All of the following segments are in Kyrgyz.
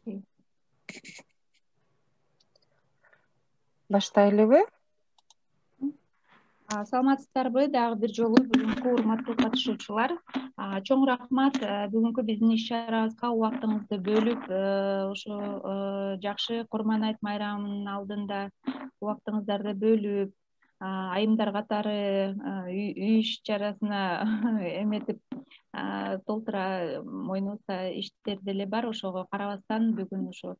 Алексей. Баштайлыбы? Саламатсыздарбы? Дагы бир жолу бүгүнкү урматтуу катышуучулар, чоң рахмат бүгүнкү биздин иш-чарабызга убактыңызды бөлүп, ошо жакшы Курман айт майрамынын алдында убактыңыздарды бөлүп, айымдар катары үй иш-чарасына эметип толтура мойнубузда иштер деле бар. Ошого карабастан бүгүн ошо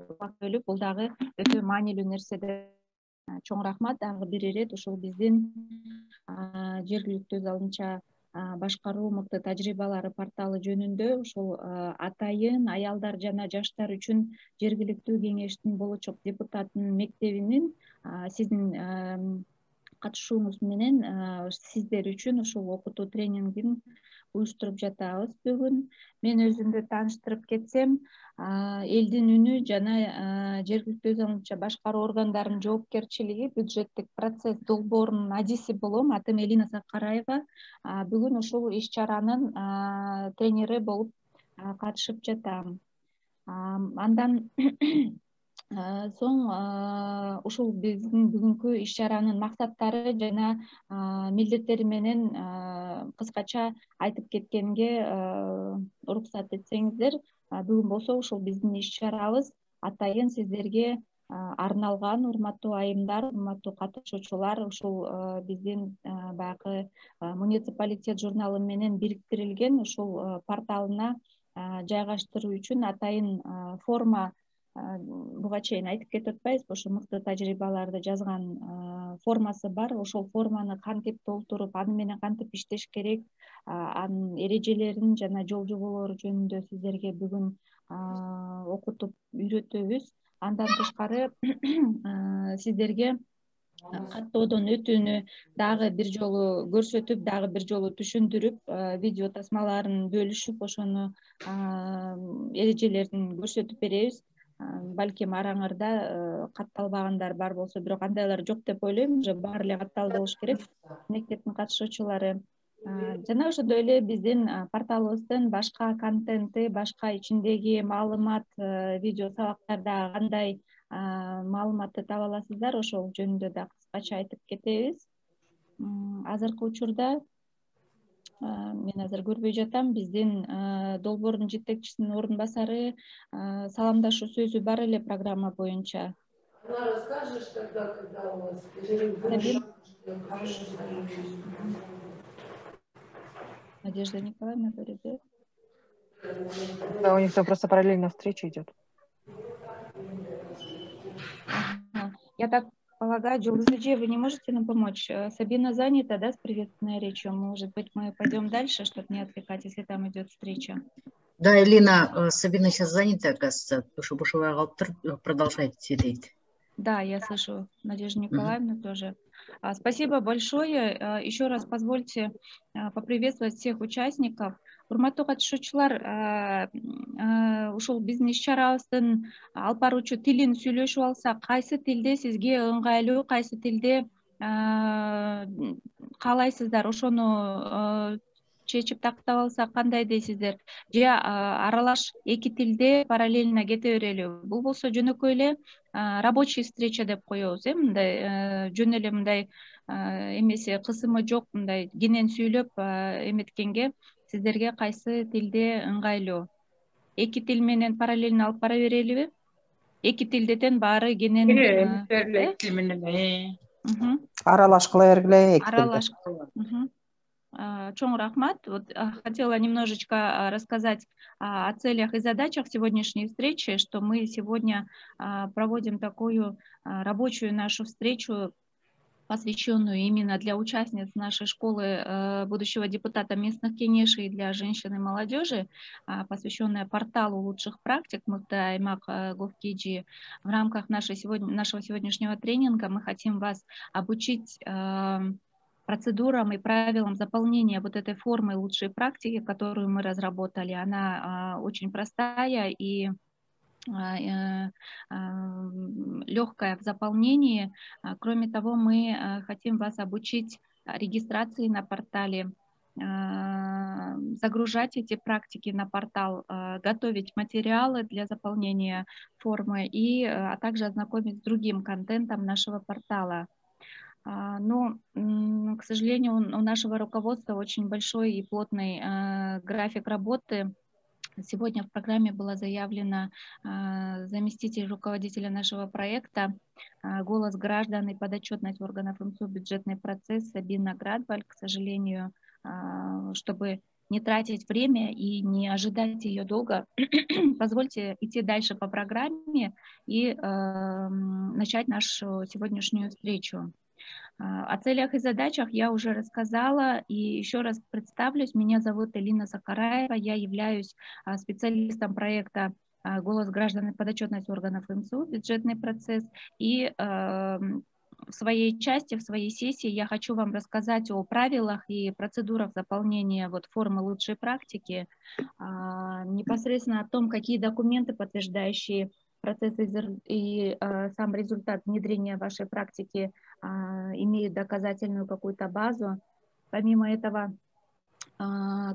убакыт бөлүп, бул дагы өтө маанилүү нерсе. Чоң рахмат дагы бир ирет ушул биздин жергиликтүү өз алдынча башкаруу мыкты тажрыйбалары порталы жөнүндө ушул атайын аялдар жана жаштар үчүн жергиликтүү кеңештин болочок депутатынын мектебинин сиздин катышууңуз менен сиздер үчүн ушул окутуу тренингин уюштуруп жатабыз бүгүн. Мен өзүмдү тааныштырып кетсем, элдин үнү жана жергиликтүү өз алдынча башкаруу органдарынын жоопкерчилиги, бюджеттик процесс долбоорунун адиси болом. Атым Элина Сакараева. Бүгүн ушул иш-чаранын тренери болуп катышып жатам. Андан соң ушул биздин бүгүнкү иш-чаранын максаттары жана милдеттери менен кыскача айтып кеткенге уруксат этсеңиздер, бүгүн болсо ушул биздин иш-чарабыз атайын сиздерге арналган. Урматтуу айымдар, урматтуу катышуучулар, ушул биздин баягы муниципалитет журналы менен бириктирилген ушул порталына жайгаштыруу үчүн атайын форма, буга чейин айтып кетип атпайбызбы, ошо мыкты тажрыйбаларды жазган формасы бар. Ошол форманы кантип толтуруп, аны менен кантип иштеш керек, анын эрежелерин жана жол жоболору жөнүндө сиздерге бүгүн окутуп үйрөтөбүз. Андан тышкары сиздерге каттоодон өтүүнү дагы бир жолу көрсөтүп, дагы бир жолу түшүндүрүп, видео тасмаларын бөлүшүп, ошону эрежелерин көрсөтүп беребиз. Балким араңарда катталбагандар бар болсо, бирок андайлар жок деп ойлойм, уже баары эле катталды болуш керек. Мектептин катышуучулары жана ошондой эле биздин порталыбыздын башка контенти, башка ичиндеги маалымат, видео сабактарда кандай маалыматты таба аласыздар, ошол жөнүндө да кыскача айтып кетебиз. Азыркы учурда мен азыр көрбөй жатам, биздин долбоордун жетекчисинин орун басары саламдашуу сөзү бар эле программа боюнча. Расскажешь тогда, когда у вас перерыв? Надежда Николаевна говорит, да? Да, у них там просто параллельно встреча идет. Я так полагаю, Джулзиджи, вы не можете нам помочь? Сабина занята, да, с приветственной речью? Может быть, мы пойдем дальше, чтобы не отвлекать, если там идет встреча? Да, Элина, Сабина сейчас занята, оказывается, потому что продолжайте, дейт. Да, я слышу Надежду Николаевну тоже. Спасибо большое. Еще раз позвольте поприветствовать всех участников. Урматтуу катышуучулар, ушул биздин иш-чарабыздын алып баруучу тилин сүйлөшүп алсак, кайсы тилде сизге ыңгайлуу, кайсы тилде каалайсыздар, ошону чечип тактап алсак кандай дейсиздер? Же аралаш эки тилде параллельно кете берели? Бул болсо жөнөкөй эле рабочий встреча деп коебуз, мындай жөн эле мындай эмеси кысымы жок, мындай кенен сүйлөп эметкенге сиздерге кайсы тилде ыңгайлуу? Эки тил менен параллельно алып бара берелиби? Эки тилде тең баары кенен Аралаш кыла бергиле, эки тилде. аралаш. Чоң рахмат. Вот хотела немножечко рассказать о целях и задачах сегодняшней встречи, что мы сегодня проводим такую рабочую нашу встречу, посвященную именно для участниц нашей школы будущего депутата местных кеңешей и для женщин и молодежи, посвященная порталу лучших практик Мыкты Аймак Говкиджи. В рамках нашего сегодняшнего тренинга мы хотим вас обучить процедурам и правилам заполнения вот этой формы лучшей практики, которую мы разработали. Она очень простая и легкая в заполнении. Кроме того, мы хотим вас обучить регистрации на портале, загружать эти практики на портал, готовить материалы для заполнения формы а также ознакомить с другим контентом нашего портала. Но, к сожалению, у нашего руководства очень большой и плотный график работы. Сегодня в программе была заявлена заместитель руководителя нашего проекта «Голос граждан и подотчетность органов МСУ. Бюджетный процесс» Сабина Градваль. К сожалению, чтобы не тратить время и не ожидать ее долго, позвольте идти дальше по программе и начать нашу сегодняшнюю встречу. О целях и задачах я уже рассказала, и еще раз представлюсь. Меня зовут Элина Закараева, я являюсь специалистом проекта «Голос граждан и подотчетность органов МСУ. Бюджетный процесс». И в своей части, в своей сессии я хочу вам рассказать о правилах и процедурах заполнения формы лучшей практики, непосредственно о том, какие документы, подтверждающие процесс и сам результат внедрения вашей практики, имеют доказательную какую-то базу. Помимо этого,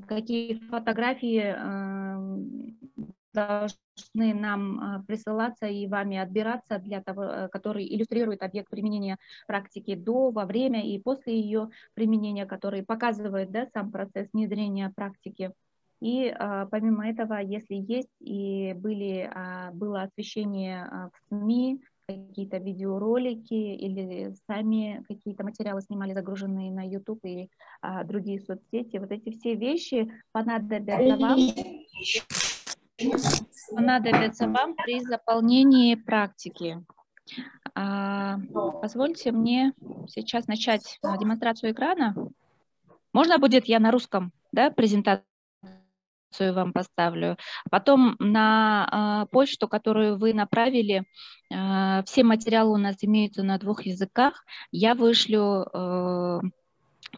какие фотографии должны нам присылаться и вами отбираться для того, который иллюстрирует объект применения практики до, во время и после ее применения, который показывает, да, сам процесс внедрения практики. И помимо этого, если есть и было освещение в СМИ, какие-то видеоролики или сами какие-то материалы снимали, загруженные на YouTube и другие соцсети, вот эти все вещи понадобятся вам при заполнении практики. Позвольте мне сейчас начать демонстрацию экрана. Можно будет я на русском, да, презентацию вам поставлю. Потом на почту, которую вы направили, все материалы у нас имеются на 2 языках. Я вышлю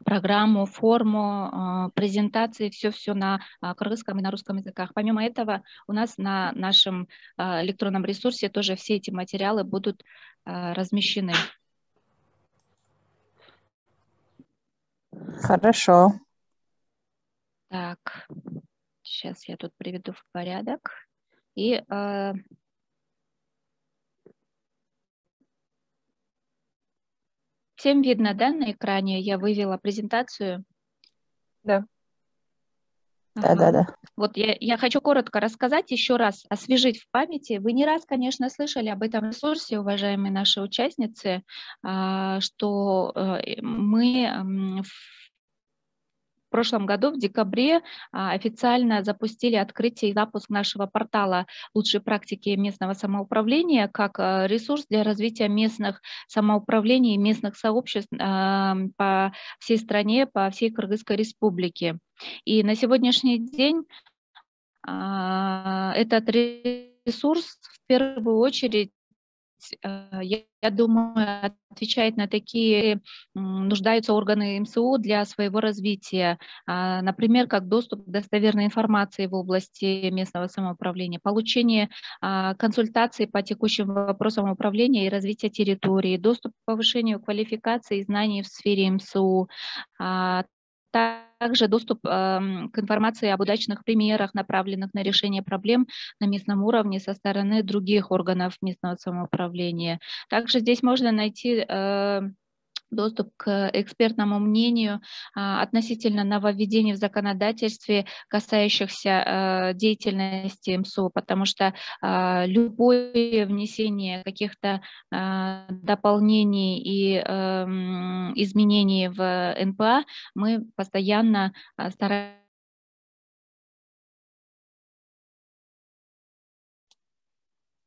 программу, форму, презентации, все на кыргызском и на русском языках. Помимо этого, у нас на нашем электронном ресурсе тоже все эти материалы будут размещены. Хорошо. Так, сейчас я тут приведу в порядок. И всем видно, да, на экране? Я вывела презентацию. Да. Да. Вот я хочу коротко рассказать, еще раз освежить в памяти. Вы не раз, конечно, слышали об этом ресурсе, уважаемые наши участницы, что мы в прошлом году, в декабре, официально запустили открытие и запуск нашего портала «Лучшие практики местного самоуправления» как ресурс для развития местных самоуправлений и местных сообществ по всей стране, по всей Кыргызской республике. И на сегодняшний день этот ресурс в первую очередь, я думаю, отвечает на такие нуждаются органы МСУ для своего развития. Например, как доступ к достоверной информации в области местного самоуправления, получение консультаций по текущим вопросам управления и развития территории, доступ к повышению квалификации и знаний в сфере МСУ, также доступ к информации об удачных примерах, направленных на решение проблем на местном уровне со стороны других органов местного самоуправления. Также здесь можно найти доступ к экспертному мнению относительно нововведений в законодательстве, касающихся деятельности МСУ, потому что любое внесение каких-то дополнений и изменений в НПА мы постоянно стараемся.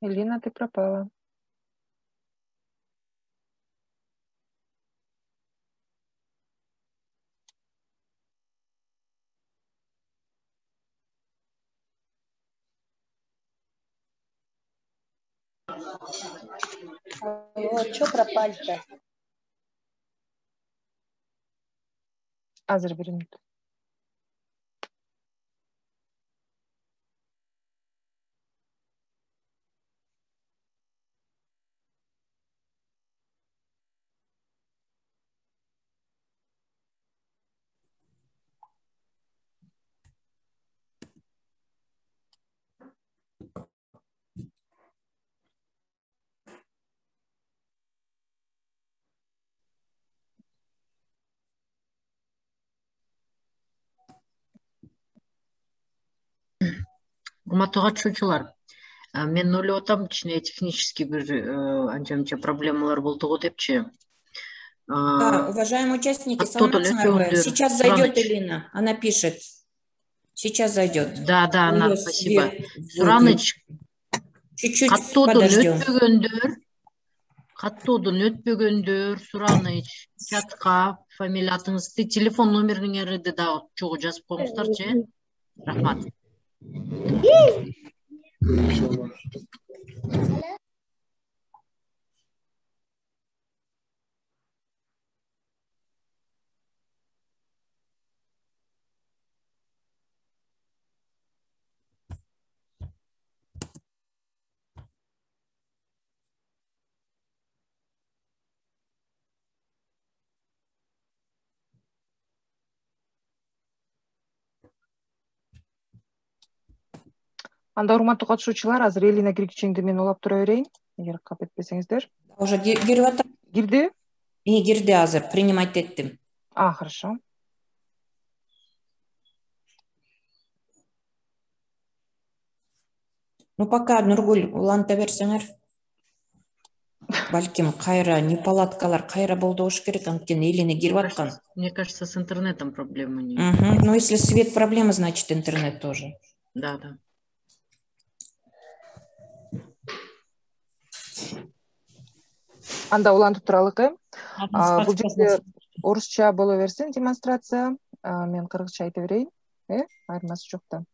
Элина, ты пропала. Алло, что пропали-то? Азыр бир минут. Урматтуу катышуучулар, мен ойлоп атам, кичине технический бир анча-мынча проблемалар болду го депчи. Да, уважаемые участники, Каттоодон саламатсыңарбы? өтпөгөндөр Сейчас зайдет Элина, она пишет. Сейчас зайдет. Да, У Анар, неё спасибо. свет Сураныч, чуть-чуть каттоодон өтпөгөндөр, Сураныч, чатка фамилия атыңызды, телефон номериңерди дагы чогуу жазып коюңуздарчы. Рахмат. Анда урматтуу катышуучулар, азыр Элина киргичеңди мен улап тура берейин, эгер кап этпесеңиздер. Уже кирип атат. Кирди? Кирди азыр, принимать еттим. Хорошо. Ну пока Нургуль уланта берсеңер. Балким кайра неполадкалар кайра болду болуш керек, анткени Элина кирип аткан. Мне кажется, с интернетом проблема нет. Ну если свет проблема, значит интернет тоже. Да. Анда улантып туралыкы. Бул жерде орусча боло берсин демонстрация. Мен кыргызча айта берейин. Айырмасы жок да.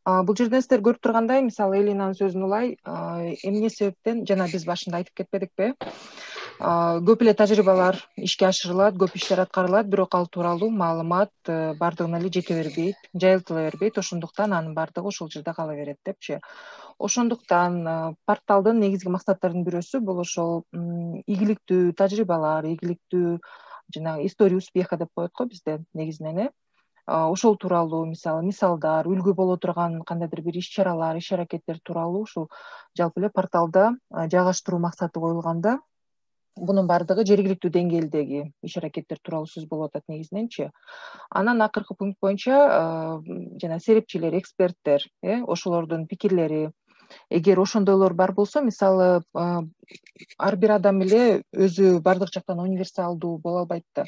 Бул жерден сиздер көрүп тургандай, мисалы Элинанын сөзүн улай, эмне себептен жана биз башында айтып кетпедикпи? Көп эле тажрыйбалар ишке ашырылат, көп иштер аткарылат, бирок ал тууралуу маалымат бардыгына эле жете бербейт, жайылтыла бербейт. Ошондуктан анын бардыгы ошол жерде кала берет депчи. Ошондуктан порталдын негизги максаттарынын бирөөсү бул ошол ийгиликтүү тажрыйбалар, ийгиликтүү жанагы история успеха деп коет го бизде негизинен. Ошол тууралуу мисалдар, үлгү боло турган кандайдыр бир иш-чаралар, иш-аракеттер тууралуу ушул жалпы эле порталда жайгаштыруу максаты коюлганда, бунун бардыгы жергиликтүү деңгээлдеги иш-аракеттер тууралуу сөз болуп атат негизиненчи. Анан акыркы пункт боюнча жана серепчилер, эксперттер, ошолордун пикирлери, эгер ошондойлор бар болсо, мисалы ар бир адам эле өзү бардык жактан универсалдуу боло албайт да.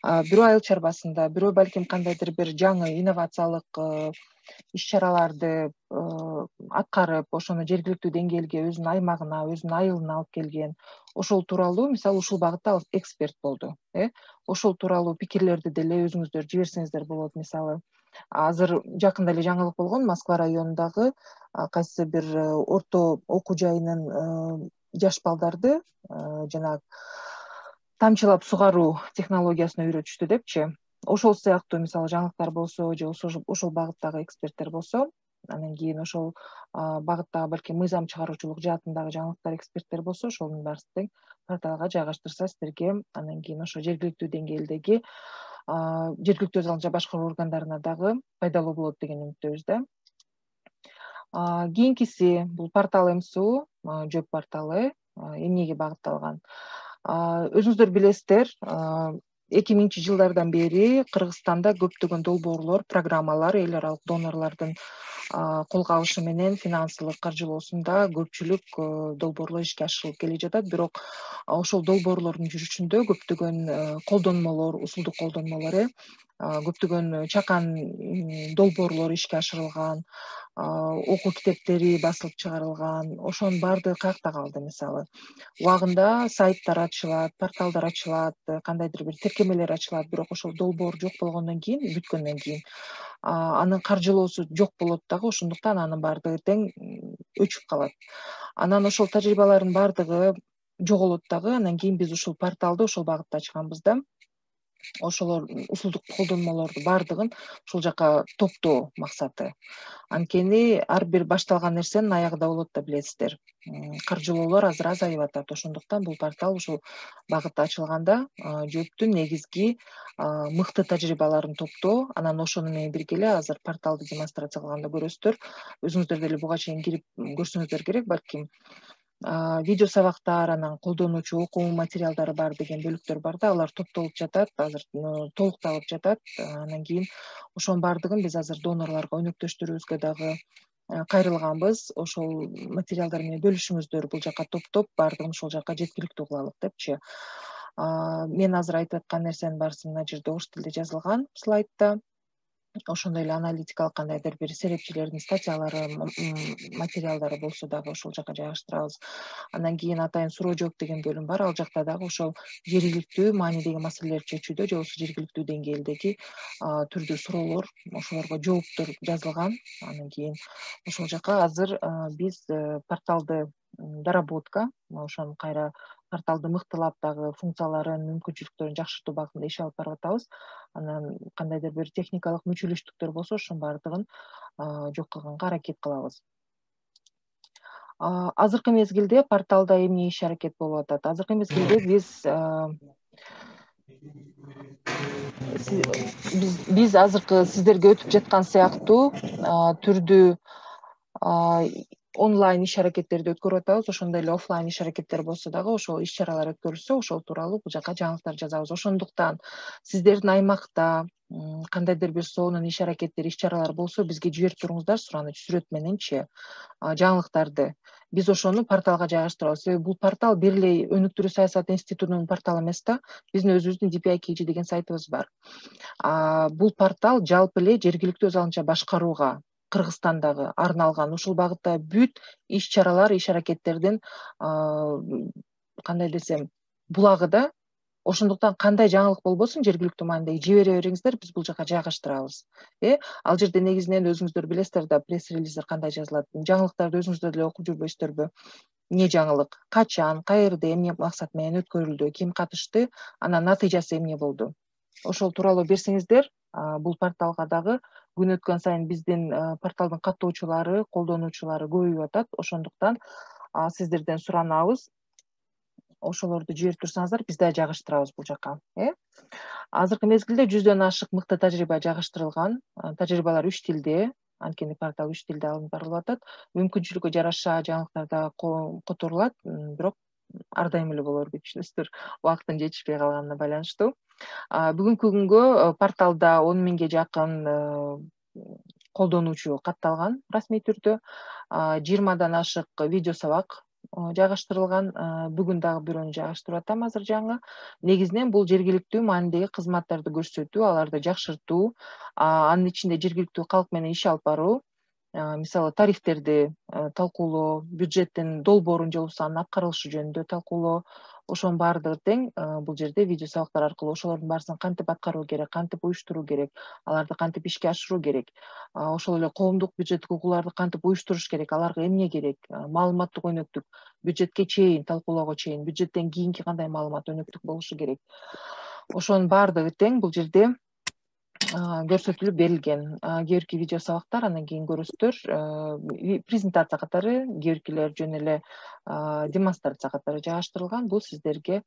Бирөө айыл чарбасында, бирөө балким кандайдыр бир жаңы инновациялык иш-чараларды аткарып, ошону жергиликтүү деңгээлге, өзүнүн аймагына, өзүнүн айылына алып келген. Ошол тууралуу, мисалы ушул багытта эксперт болду. Ошол тууралуу пикирлерди деле өзүңүздөр жиберсеңиздер болот. Мисалы, азыр жакында эле жаңылык болгон, Москва районундагы кайсы бир орто окуу жайынын жаш балдарды жанагы тамчылап сугаруу технологиясына үйрөтүштү депчи. Ошол сыяктуу мисалы жаңылыктар болсо, же ошол багыттагы эксперттер болсо, анан кийин ошол багыттагы балким мыйзам чыгаруучулук жаатындагы жаңылыктар, эксперттер болсо, ошонун баарысын порталга жайгаштырса, сиздерге анан кийин ошо жергиликтүү деңгээлдеги жергиликтүү өз алдынча башкаруу органдарына дагы пайдалуу болот деген үмүттөбүз да. Кийинкиси бул портал МСУ, жөп порталы, эмнеге багытталган? Өзүңүздөр билесиздер, 2000-жылдардан бери Кыргызстанда көптөгөн долбоорлор, программалар эл аралык донорлордун колго алышы менен финансылык каржылоосунда көпчүлүк долбоорлор ишке ашырылып келе жатат. Бирок ошол долбоорлордун жүрүшүндө көптөгөн колдонмолор, усулдук колдонмолор, көптөгөн чакан долбоорлор ишке ашырылган, окуу китептери басылып чыгарылган. Ошонун баардыгы каякта калды? Мисалы, убагында сайттар ачылат, порталдар ачылат, кандайдыр бир тиркемелер ачылат, бирок ошол долбоор жок болгондон кийин, бүткөндөн кийин анын каржылоосу жок болот дагы, ошондуктан анын баардыгы тең өчүп калат. Анан ошол тажрыйбалардын баардыгы жоголот дагы. Анан кийин биз ушул порталды ошол багытта ачканбыз да. Ошолор усулдук колдонмолорду баардыгын ушул жака топтоо максаты. Анткени ар бир башталган нерсенин аягы да болот да, билесиздер. Каржылоолор азыр азайып атат. Ошондуктан бул портал ушул багытта ачылганда жөптүн негизги мыкты тажрыйбаларын топтоо. Анан ошону менен бирге эле азыр порталды демонстрация кылганда көрөсүздөр. Өзүңүздөр деле буга чейин кирип көрсөңүздөр керек, балким видео сабактар, анан колдонуучу окуу материалдары бар деген бөлүктөр бар да, алар топтолуп жатат, азыр толукталып жатат. Анан кийин ошонун баардыгын биз азыр донорлорго, өнөктөштөрүбүзгө дагы кайрылганбыз. Ошол материалдар менен бөлүшүңүздөр, бул жака топтоп баардыгын ошол жака жеткиликтүү кылалык депчи. Мен азыр айтып аткан нерсенин баарысы мына жерде ош тилде жазылган слайдта. Ошондой эле аналитикалык кандайдыр бир серепчилердин статьялары, материалдары болсо дагы ошол жака жайгаштырабыз. Андан кийин атайын суроо жооп деген бөлүм бар. Ал жакта дагы ошол жергиликтүү маанидеги маселелерди чечүүдө же болбосо жергиликтүү деңгээлдеги түрдүү суроолор, ошолорго жооптор жазылган. Андан кийин ошол жака азыр биз порталды доработка, ошону кайра порталды мыктылап дагы функцияларын, мүмкүнчүлүктөрүн жакшыртуу багытында иш алып барып атабыз. Анан кандайдыр бир техникалык мүчөлүштүктөр болсо ошонун баардыгын жок кылганга аракет кылабыз. Азыркы мезгилде порталда эмне иш аракет болуп атат? Азыркы мезгилде биз азыркы сиздерге өтүп жаткан сыяктуу түрдүү онлайн иш аракеттерди өткөрүп атабыз. Ошондой эле офлайн иш аракеттер болсо дагы ошол иш чаралар өткөрүлсө, ошол тууралуу бул жака жаңылыктар жазабыз. Ошондуктан сиздердин аймакта кандайдыр бир сонун иш аракеттер, иш чаралар болсо бизге жиберип туруңуздар сураныч сүрөт мененчи жаңылыктарды. Биз ошону порталга жайгаштырабыз. Себеби бул портал бир эле өнүктүрүү саясаты институтунун порталы эмес да. Биздин өзүбүздүн DPI-KG деген сайтыбыз бар. Бул портал жалпы эле жергиликтүү өз алынча башкарууга Кыргызстандагы арналган ушул багытта бүт иш чаралар, иш аракеттердин кандай десем булагы да. Ошондуктан кандай жаңылык болбосун жергиликтүү маанидеги жибере бериңиздер, биз бул жака жайгаштырабыз. Ал жерде негизинен өзүңүздөр билесиздер да, пресс-релиздер кандай жазылат. Жаңылыктарды өзүңүздөр деле окуп жүрбөйсүздөрбү? Эмне жаңылык, качан, каерде, эмне максат менен өткөрүлдү, ким катышты, анан натыйжасы эмне болду? Ошол тууралуу берсеңиздер, бул порталга дагы күн өткөн сайын биздин порталдын каттоочулары, колдонуучулары көбөйүп атат. Ошондуктан сиздерден суранабыз, ошолорду жиберип турсаңыздар, биз да жайгаштырабыз бул жака. Азыркы мезгилде 100дөн ашык мыкты тажрыйба жайгаштырылган. Тажрыйбалар 3 тилде, анткени портал 3 тилде алынып барылып атат. Мүмкүнчүлүккө жараша жаңылыктар да которулат, бирок ар дайым эле болор деп түшүнөсүздөр, убакыттын жетишпей калганына байланыштуу. Бүгүнкү күнгө порталда 10 миңге жакын колдонуучу катталган расмий түрдө. 20дан ашык видео сабак жайгаштырылган. Бүгүн дагы бирөөнү жайгаштырып атам азыр жаңы. Негизинен бул жергиликтүү маанидеги кызматтарды көрсөтүү, аларды жакшыртуу, анын ичинде жергиликтүү калк менен иш алып баруу, мисалы тарифтерди талкуулоо, бюджеттин долбоорун же болбосо анын аткарылышы жөнүндө талкуулоо, ошонун баардыгы тең бул жерде видео сабактар аркылуу ошолордун баарысын кантип аткаруу керек, кантип уюштуруу керек, аларды кантип ишке ашыруу керек, ошол эле коомдук бюджеттик угууларды кантип уюштуруш керек, аларга эмне керек, маалыматтык өнөктүк, бюджетке чейин, талкуулоого чейин, бюджеттен кийинки кандай маалымат өнөктүк болушу керек. Ошонун баардыгы тең бул жерде көрсөтүлүп берилген. Кээ бирки видео сабактар андан кийин көрөсүздөр, презентация катары, кээ биркилер жөн эле демонстрация катары жайгаштырылган. Бул сиздерге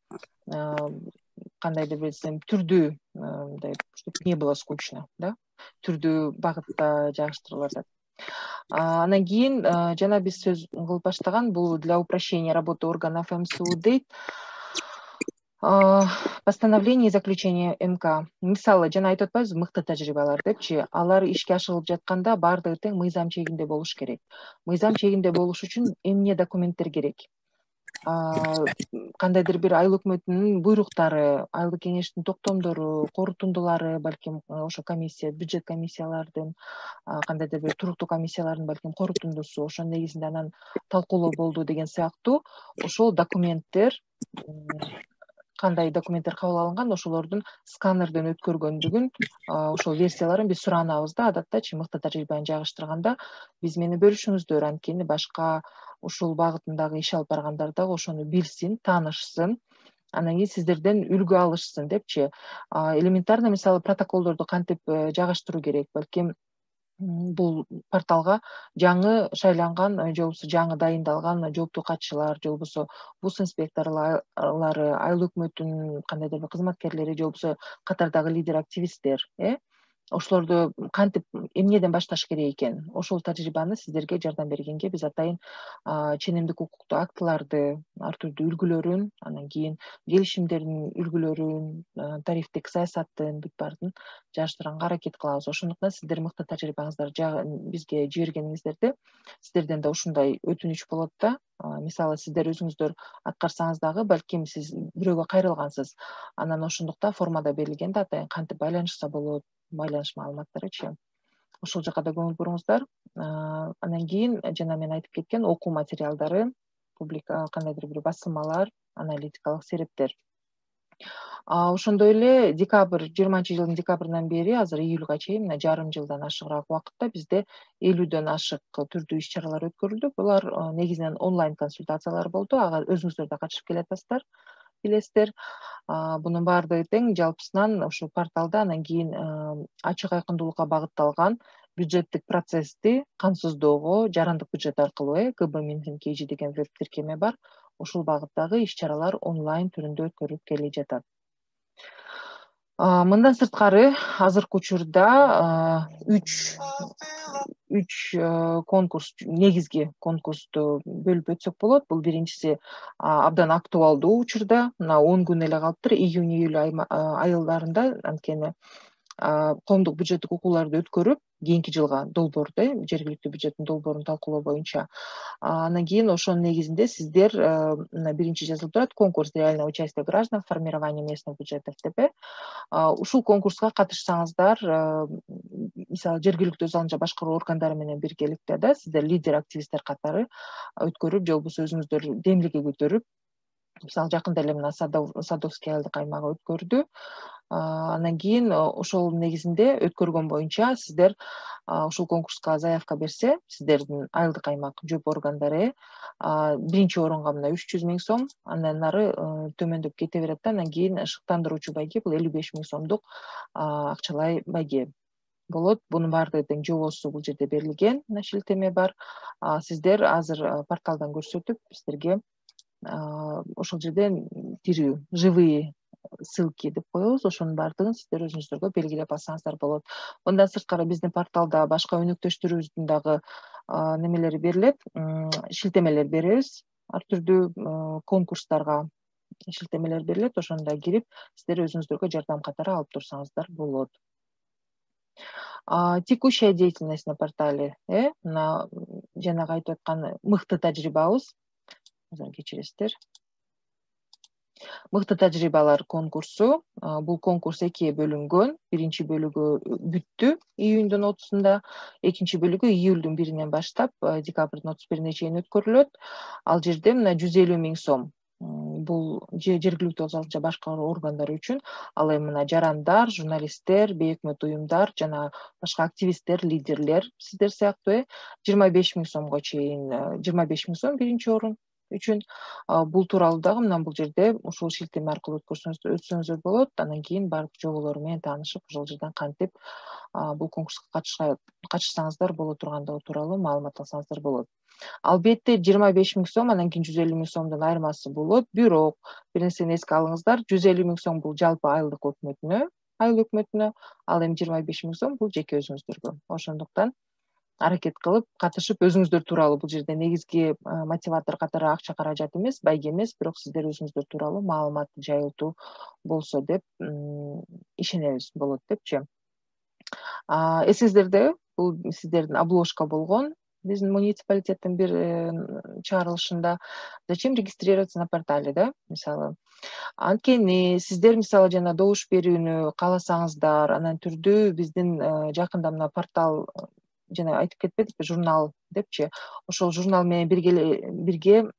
кандайдыр бир түрдүү, мындай, чтоб не было скучно, да, түрдүү багытта жайгаштырылып атат. Андан кийин жана биз сөз кылып баштаган бул для упрощения работы органов МСУ дейт. Постановление и заключение МК. Мисалы, жана айтып атпайбызбы, мыкты тажрыйбалар депчи, алар ишке ашырылып жатканда баардыгы тең мыйзам чегинде болуш керек. Мыйзам чегинде болуш үчүн эмне документтер керек? Кандайдыр бир айыл өкмөтүнүн буйруктары, айылдык кеңештин токтомдору, корутундулары, балким ошо комиссия, бюджет комиссиялардын, кандайдыр бир туруктуу комиссиялардын балким корутундусу, ошонун негизинде анан талкуулоо болду деген сыяктуу ошол документтер, кандай документтер кабыл алынган, ошолордун сканерден өткөргөндүгүн, ошол версияларын биз суранабыз да. Адаттачы мыкты тажрыйбаны жайгаштырганда биз мени бөлүшүңүздөр, анткени башка ушул багытындагы иш алып баргандар дагы ошону билсин, таанышсын, анан кийин сиздерден үлгү алышсын депчи. Элементарно, мисалы, протоколдорду кантип жайгаштыруу керек, балким бул порталга жаңы шайланган же болбосо жаңы дайындалган жооптуу катчылар, же болбосо бус инспекторлары, айыл өкмөтүнүн кандайдыр бир кызматкерлери, же болбосо катардагы лидер активисттер ошолорду кантип эмнеден башташ керек экен, ошол тажрыйбаны сиздерге жардам бергенге биз атайын ченемдик укуктуу актыларды ар түрдүү үлгүлөрүн, анан кийин келишимдердин үлгүлөрүн, тарифтик саясаттын бүт баарын жааштырганга аракет кылабыз. Ошондуктан сиздер мыкты тажрыйбаңыздарды бизге жибергениңиздерде сиздерден да ушундай өтүнүч болот да. Мисалы сиздер өзүңүздөр аткарсаңыз дагы балким сиз бирөөгө кайрылгансыз, анан ошондуктан формада берилген да атайын кантип байланышса болот, байланыш маалыматтарычы. Ошол жака да көңүл буруңуздар. Анан кийин жана мен айтып кеткен окуу материалдары, кандайдыр бир басылмалар, аналитикалык серептер. Ошондой эле 20-жылдын декабрынан бери азыр июлга чейин мына жарым жылдан ашыгыраак убакытта бизде 50дөн ашык түрдүү иш чаралар өткөрүлдү. Булар негизинен онлайн консультациялар болду. Ага өзүңүздөр да катышып келатасыздар, билесиздер. Бунун баардыгы тең жалпысынан ушул порталда анан кийин ачык айкындуулукка багытталган бюджеттик процессти камсыздоого жарандык бюджет аркылуу КБ-KG деген веб тиркеме бар. Ушул багыттагы иш чаралар онлайн түрүндө өткөрүлүп келе жатат. Мындан сырткары азыркы учурда 3 конкурс, негизги конкурсту бөлүп өтсөк болот. Бул биринчиси абдан актуалдуу учурда, мына 10 күн эле калыптыр, июнь-июль айылдарында анткени коомдук бюджеттик окууларды өткөрүп, кийинки жылга долбоорду, жергиликтүү бюджеттин долбоорун талкуулоо боюнча. Анан кийин ошонун негизинде сиздер биринчи жазылып турат конкурс реального участия граждан в формировании местных бюджетов деп. Ушул конкурска катышсаңыздар, мисалы жергиликтүү өз алынча башкаруу органдары менен биргеликте да сиздер лидер активисттер катары өткөрүп, же болбосо өзүңүздөр демилге көтөрүп, мисалы жакында эле мына Садовский айылдык аймагы өткөрдү. Анан кийин ошол негизинде өткөргөн боюнча сиздер ушул конкурска заявка берсе, сиздердин айылдык аймак жоп органдары биринчи орунга мына 300 000 сом, андан ары төмөндөп кете берет да, анан кийин шыктандыруучу байге бул 55 000 сомдук акчалай байге болот. Бунун баардыгы тең жобосу бул жерде берилген, шилтеме бар. Сиздер азыр порталдан көрсөтүп, сиздерге ошол жерден тирүү, живые ссылки деп коебуз, ошонун баардыгын сиздер өзүңүздөргө белгилеп алсаңыздар болот. Мындан сырткары биздин порталда башка өнөктөштөрүбүздүн дагы немелери берилет, шилтемелер беребиз, ар түрдүү конкурстарга шилтемелер берилет. Ошондо кирип сиздер өзүңүздөргө жардам катары алып турсаңыздар болот. Текущая деятельность на портале, мына жанагы айтып аткан мыкты тажрыйбабыз, кечиресиздер. Мыкты тажрыйбалар конкурсу. Бул конкурс экиге бөлүнгөн. Биринчи бөлүгү бүттү июньдун 30-сунда, экинчи бөлүгү июлдун 1-инен баштап декабрдын 31-ине чейин өткөрүлөт. Ал жерде мына 150 000 сом. Бул жергиликтүү өз алынча башкаруу органдары үчүн, ал эми мына жарандар, журналисттер, бейөкмөт уюмдар жана башка активисттер, лидерлер сиздер сыяктуу 25 000 сомго чейин, 25 000 сом биринчи орун үчүн. Бул тууралуу дагы мына бул жерде ушул шилтеме аркылуу өтсөңүздөр болот. Анан кийин барып жоболору менен таанышып, ошол жерден кантип бул конкурска катышсаңыздар боло тургандыгы тууралуу маалымат алсаңыздар болот. Албетте 25 000 сом, анан кийин 150 000 сомдун айырмасы болот. Бирок бир нерсени эске алыңыздар, 150 000 сом бул жалпы айылдык өкмөтүнө, айыл өкмөтүнө, ал эми 25 000 сом бул жеке өзүңүздөргө. Ошондуктан аракет кылып катышып, өзүңүздөр тууралуу, бул жерде негизги мотиватор катары акча каражат эмес, байге эмес, бирок сиздер өзүңүздөр тууралуу маалымат жайылтуу болсо деп ишенебиз болот депчи. Эсиңиздерде бул сиздердин обложка болгон биздин муниципалитеттин бир чыгарылышында зачем регистрироваться на портале, да, мисалы. Анткени сиздер мисалы жана добуш берүүнү кааласаңыздар, анан түрдүү биздин жакында мына портал жана айтып кетпедикпи, журнал депчи, ошол журнал менен бирге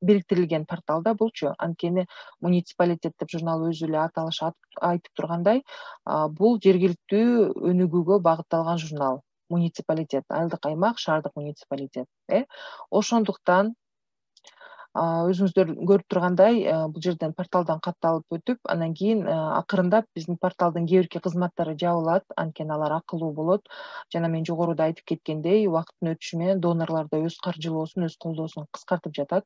бириктирилген порталда булчу. Анткени муниципалитет деп журнал өзү эле аталышы айтып тургандай, бул жергиликтүү өнүгүүгө багытталган журнал. Муниципалитет, айылдык аймак, шаардык муниципалитет. Ошондуктан өзүңүздөр көрүп тургандай, бул жерден порталдан катталып өтүп, анан кийин акырындап биздин порталдын кээ бирки кызматтары жабылат, анткени алар акылуу болот. Жана мен жогоруда айтып кеткендей, убакыттын өтүшү менен донорлор да өз каржылоосун, өз колдоосун кыскартып жатат.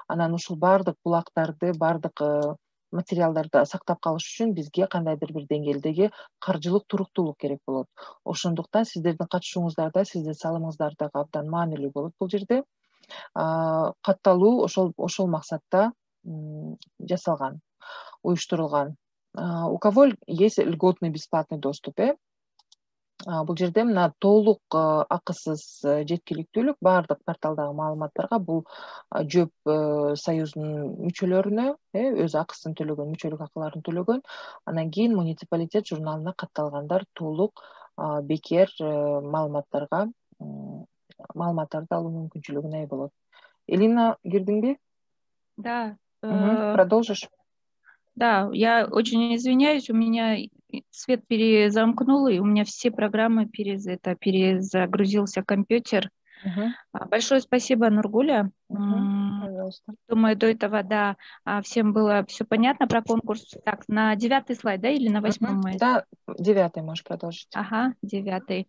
Анан ушул баардык булактарды, баардык материалдарды сактап калыш үчүн бизге кандайдыр бир деңгээлдеги каржылык туруктуулук керек болот. Ошондуктан сиздердин катышуңуздар да, сиздин салымыңыздар дагы абдан маанилүү болот бул жерде. Катталуу ошол максатта жасалган, уюштурулган. У кого есть льготный бесплатный доступ, бул жерде мына толук акысыз жеткиликтүүлүк баардык порталдагы маалыматтарга бул ЖÖP союзунун мүчөлөрүнө өз акысын төлөгөн, мүчөлүк акыларын төлөгөн, анан кийин муниципалитет журналына катталгандар толук бекер маалыматтарды алуу мүмкүнчүлүгүнө ээ болот. Элина, кирдиңби? Да. Продолжишь? Да, я очень извиняюсь, у меня свет перезамкнул, и у меня все программы перезагрузился компьютер. Большое спасибо, Нургуля. Пожалуйста. Думаю, до этого, да, всем было все понятно про конкурс. Так, на 9-й слайд, да, или на 8-й? Да, 9-й можешь продолжить. Ага, 9-й.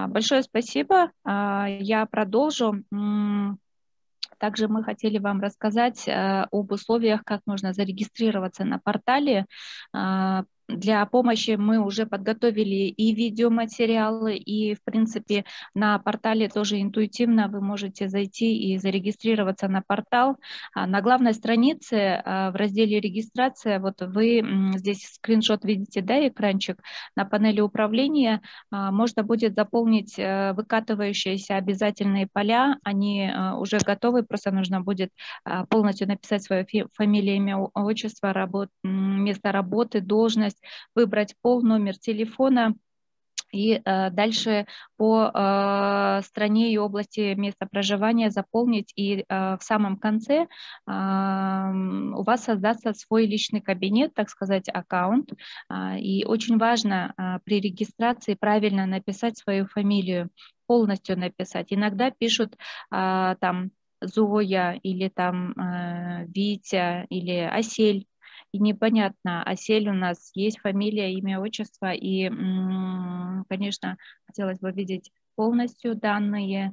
Большое спасибо. Я продолжу. Также мы хотели вам рассказать об условиях, как можно зарегистрироваться на портале. Для помощи мы уже подготовили и видеоматериалы, и, в принципе, на портале тоже интуитивно вы можете зайти и зарегистрироваться на портал. На главной странице в разделе «Регистрация», вот вы здесь скриншот видите, да, экранчик, на панели управления можно будет заполнить выкатывающиеся обязательные поля, они уже готовы, просто нужно будет полностью написать свое фамилия, имя, отчество, место работы, должность, выбрать пол, номер телефона и дальше по стране и области места проживания заполнить. И в самом конце у вас создастся свой личный кабинет, так сказать, аккаунт. И очень важно при регистрации правильно написать свою фамилию, полностью написать. Иногда пишут там Зоя или там Витя или Асель. И непонятно, Асель у нас есть фамилия, имя, отчество, и, конечно, хотелось бы видеть полностью данные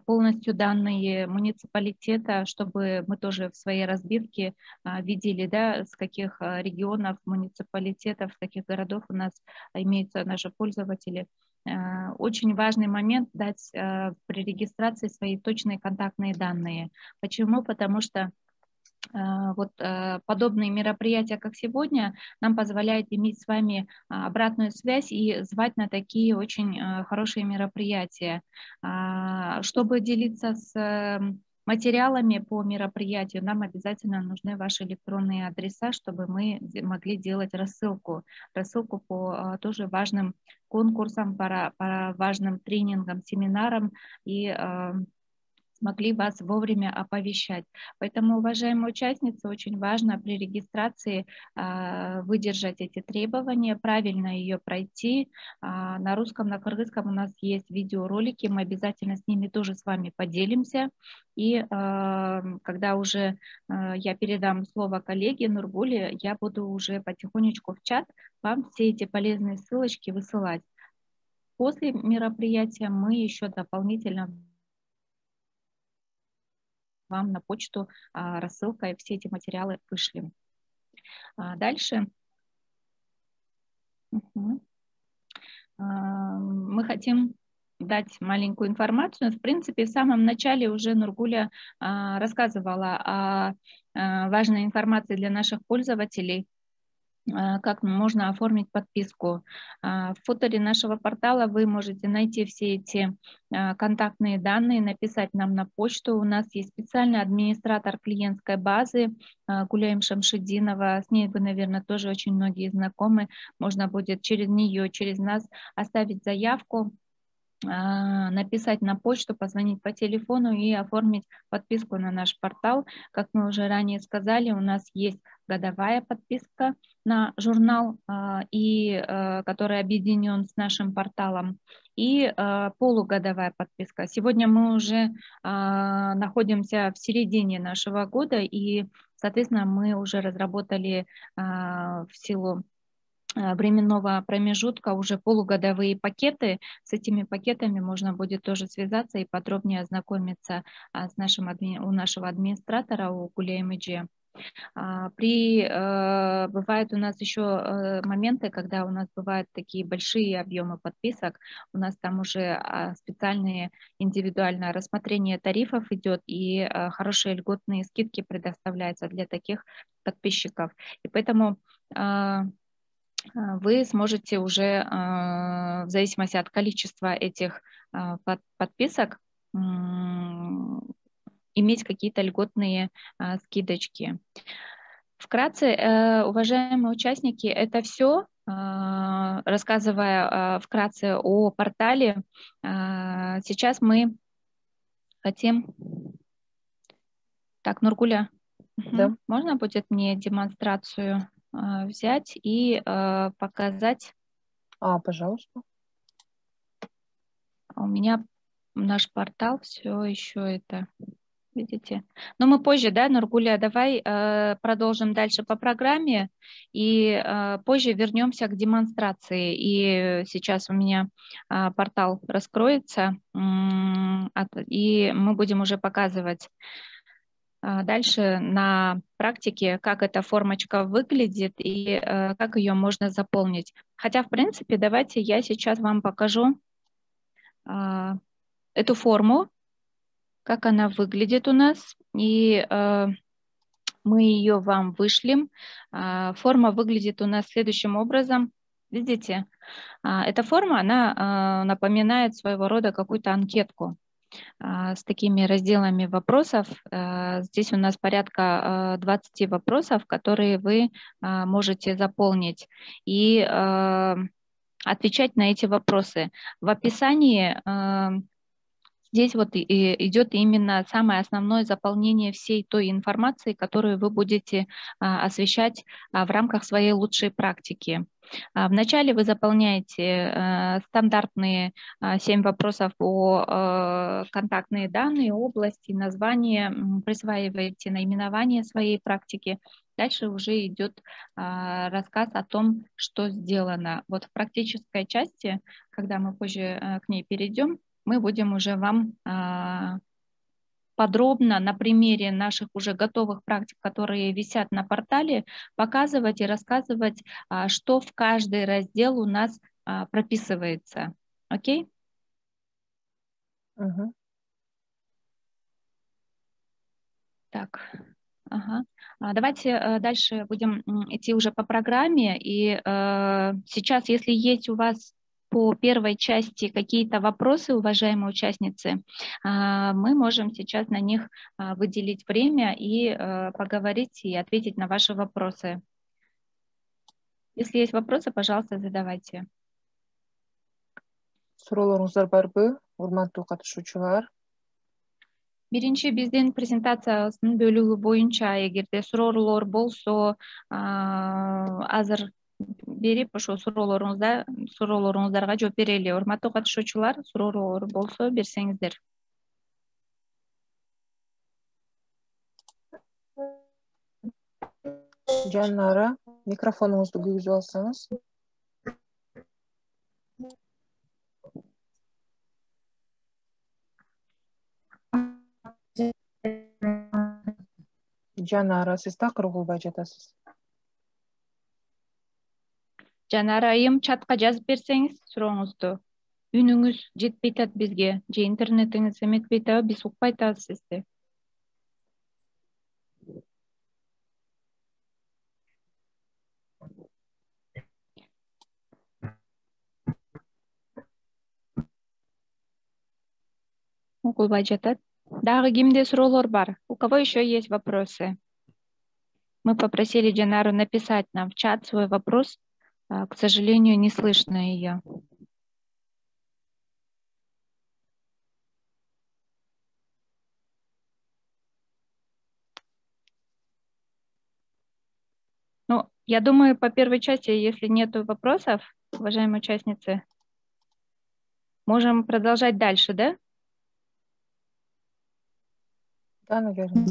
муниципалитета, чтобы мы тоже в своей разбивке видели, да, с каких регионов, муниципалитетов, с каких городов у нас имеются наши пользователи. Очень важный момент дать при регистрации свои точные контактные данные. Почему? Потому что вот подобные мероприятия, как сегодня, нам позволяют иметь с вами обратную связь и звать на такие очень хорошие мероприятия. Чтобы делиться с материалами по мероприятию, нам обязательно нужны ваши электронные адреса, чтобы мы могли делать рассылку по тоже важным конкурсам, по важным тренингам, семинарам и смогли вас вовремя оповещать. Поэтому, уважаемые участницы, очень важно при регистрации выдержать эти требования, правильно ее пройти. На русском, на кыргызском у нас есть видеоролики, мы обязательно с ними тоже с вами поделимся. И когда уже я передам слово коллеге Нургуле, я буду уже потихонечку в чат вам все эти полезные ссылочки высылать. После мероприятия мы еще дополнительно вам на почту рассылкой все эти материалы вышлем. Дальше. Мы хотим дать маленькую информацию. В принципе, в самом начале уже Нургуля рассказывала о важной информации для наших пользователей, как можно оформить подписку. В футере нашего портала вы можете найти все эти контактные данные, написать нам на почту. У нас есть специальный администратор клиентской базы Гуляем Шамшидинова. С ней вы, наверное, тоже очень многие знакомы. Можно будет через нее, через нас оставить заявку, написать на почту, позвонить по телефону и оформить подписку на наш портал. Как мы уже ранее сказали, у нас есть годовая подписка на журнал, который объединен с нашим порталом, и полугодовая подписка. Сегодня мы уже находимся в середине нашего года, и, соответственно, мы уже разработали в силу временного промежутка уже полугодовые пакеты. С этими пакетами можно будет тоже связаться и подробнее ознакомиться у нашего администратора, у Гуляем ИДЖ. Бывают у нас еще моменты, когда у нас бывают такие большие объемы подписок, у нас там уже специальные индивидуальное рассмотрение тарифов идет, и хорошие льготные скидки предоставляются для таких подписчиков. И поэтому вы сможете уже, в зависимости от количества этих подписок, иметь какие-то льготные скидочки. Вкратце, уважаемые участники, это все. Рассказывая вкратце о портале, сейчас мы хотим... Так, Нургуля, Да. Можно будет мне демонстрацию взять и показать? Пожалуйста. У меня наш портал все еще это... Видите? Но мы позже, да, Нургуля, давай продолжим дальше по программе и позже вернемся к демонстрации. И сейчас у меня портал раскроется, и мы будем уже показывать дальше на практике, как эта формочка выглядит и как ее можно заполнить. Хотя, в принципе, давайте я сейчас вам покажу эту форму, как она выглядит у нас, и мы ее вам вышлем. Форма выглядит у нас следующим образом. Видите, эта форма, она напоминает своего рода какую-то анкетку с такими разделами вопросов. Здесь у нас порядка 20 вопросов, которые вы можете заполнить и отвечать на эти вопросы. В описании здесь вот идет именно самое основное заполнение всей той информации, которую вы будете освещать в рамках своей лучшей практики. Вначале вы заполняете стандартные 7 вопросов о контактные данные, области, название, присваиваете наименование своей практики. Дальше уже идет рассказ о том, что сделано. Вот в практической части, когда мы позже к ней перейдем, мы будем уже вам подробно на примере наших уже готовых практик, которые висят на портале, показывать и рассказывать, что в каждый раздел у нас прописывается. Окей? Так. Давайте дальше будем идти уже по программе. И сейчас, если есть у вас по первой части какие-то вопросы, уважаемые участницы, мы можем сейчас на них выделить время и поговорить и ответить на ваши вопросы. Если есть вопросы, пожалуйста, задавайте. Суроолоруңуздар барбы, урматтуу катышуучулар? Биринчи биздин презентациябыздын бөлүгү боюнча эгерде суроолор болсо, азыр берип ошо суроолоруңуздарга жооп берели. Урматтуу катышуучулар, суроолор болсо берсеңиздер. Жанара, микрофонуңузду күйгүзүп алсаңыз. Жанара, сиз такыр угулбай жатасыз. Жанара айым, чатка жазып берсеңиз сурооңузду. Үнүңүз жетпей атат бизге, же интернетиңиз эметпей атабы, биз укпай атабыз сизди. Укулбай жатат. Дагы кимде суроолор бар? У кого еще есть вопросы? Мы попросили Жанару написать нам в чат свой вопрос. К сожалению, не слышно ее. Ну, я думаю, по первой части, если нет вопросов, уважаемые участницы, можем продолжать дальше, да? Да, наверное.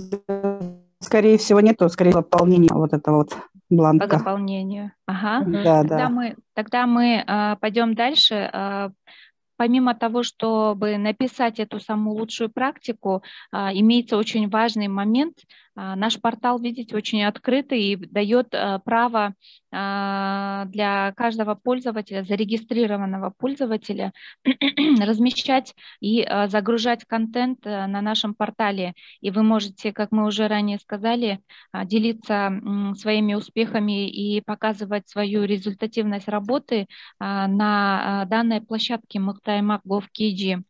Скорее всего, нету, скорее заполнение вот этого вот бланка. По заполнению. Ага. Да. Тогда мы пойдем дальше. Помимо того, чтобы написать эту самую лучшую практику, имеется очень важный момент. Наш портал, видите, очень открытый и дает право для каждого пользователя, зарегистрированного пользователя, размещать и загружать контент на нашем портале. И вы можете, как мы уже ранее сказали, делиться своими успехами и показывать свою результативность работы на данной площадке Mыкты-Аймак.gov.kg.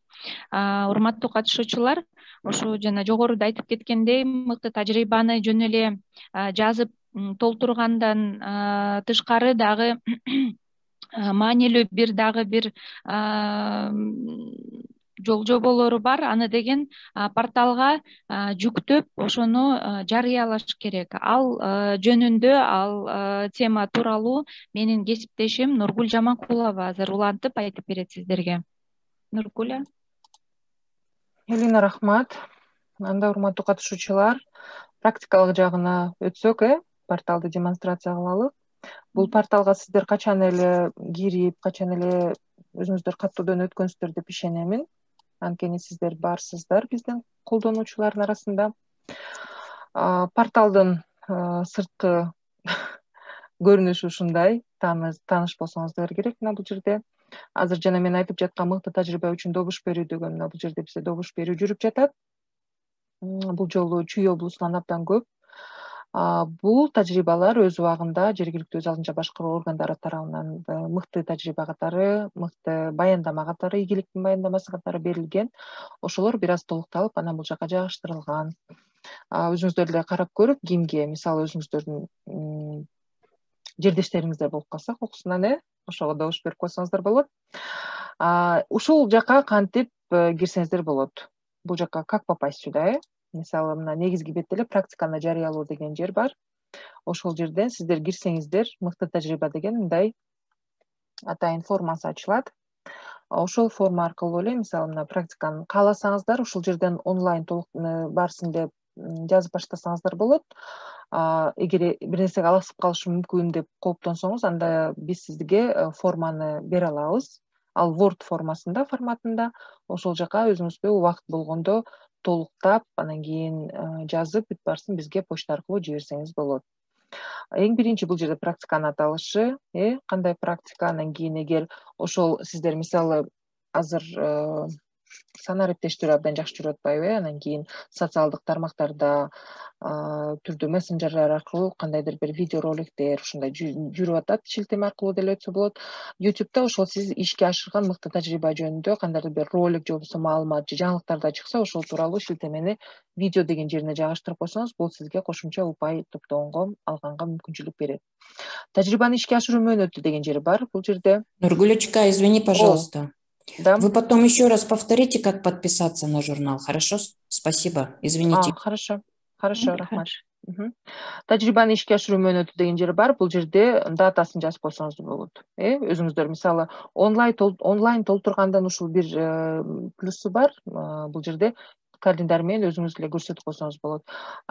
Урматтуу катышуучулар, ошо жана жогоруда айтып кеткендей, мыкты тажрыйбаны жөн эле жазып толтургандан тышкары дагы маанилүү бир жол жоболору бар. Аны деген порталга жүктөп ошону жарыялаш керек. Ал жөнүндө, ал тема тууралуу менин кесиптешим Нургүл Жаманкулова азыр улантып айтып берет сиздерге. Нургүл. Элина, рахмат. Анда урматтуу катышуучулар, практикалык жагына өтсөк, порталды демонстрация кылалы. Бул порталга сиздер качан эле кирип, качан эле өзүңүздөр каттоодон өткөнсүздөр деп ишенемин. Анткени сиздер барсыздар биздин колдонуучулардын арасында. Порталдын сырткы көрүнүшү ушундай. Тааныш болсоңуздар керек мына бул жерде. Азыр жана мен айтып жаткан мыкты тажрыйба үчүн добуш берүү деген бул жерде бизде добуш берүү жүрүп жатат. Бул жолу Чүй облусунан абдан көп. Бул тажрыйбалар өз убагында жергиликтүү өз алдынча башкаруу органдары тарабынан мыкты тажрыйба катары, мыкты баяндама катары, ийгиликтин баяндамасы катары берилген. Ошолор бир аз толукталып, анан бул жака жайгаштырылган. Өзүңүздөр эле карап көрүп, кимге, мисалы өзүңүздөрдүн жердештериңиздер болуп калса, кокусунан ошого добуш берип койсоңуздар болот. Ушул жака кантип кирсеңиздер болот? Бул жака как попасть сюда, Мисалы, мына негизги бетте эле практиканы жарыялоо деген жер бар. Ошол жерден сиздер кирсеңиздер, мыкты тажрыйба деген мындай атайын формасы ачылат. Ошол форма аркылуу эле, мисалы, мына практиканы кааласаңыздар, ушул жерден онлайн толук барсын деп жазып баштасаңыздар болот. Эгер бир нерсеге алысып калышым мүмкүн деп кооптонсоңуз, анда биз сизге форманы бере алабыз. Ал Word формасында, форматында. Ошол жака өзүңүзгө убакыт болгондо толуктап, анан кийин жазып бүт барсын бизге почта аркылуу жиберсеңиз болот. Эң биринчи бул жерде практиканын аталышы, кандай практика, анан кийин эгер ошол сиздер мисалы азыр санариптештирүү абдан жакшы жүрүп атпайбы, анан кийин социалдык тармактарда түрдүү мессенджерлер аркылуу кандайдыр бир видео роликтер ушундай жүрүп атат, шилтеме аркылуу деле өтсө болот. YouTube'да ошол сиз ишке ашырган мыкты тажрыйба жөнүндө кандайдыр бир ролик же болбосо маалымат же жаңылыктарда чыкса, ошол тууралуу шилтемени видео деген жерине жайгаштырып койсоңуз, бул сизге кошумча упай топтогонго, алганга мүмкүнчүлүк берет. Тажрыйбаны ишке ашыруу мөөнөтү деген жери бар бул жерде. Нургулечка, извини, пожалуйста. Да. Вы потом еще раз повторите, как подписаться на журнал, хорошо? Спасибо, извините. Хорошо, рахмат. Тажрыйбаны ишке ашыруу мөөнөтү деген жери бар. Бул жерде датасын жазып койсоңуз болот. Өзүңүздөр мисалы онлайн толтургандан ушул бир плюсу бар. Бул жерде календарь менен өзүңүз эле көрсөтүп койсоңуз болот.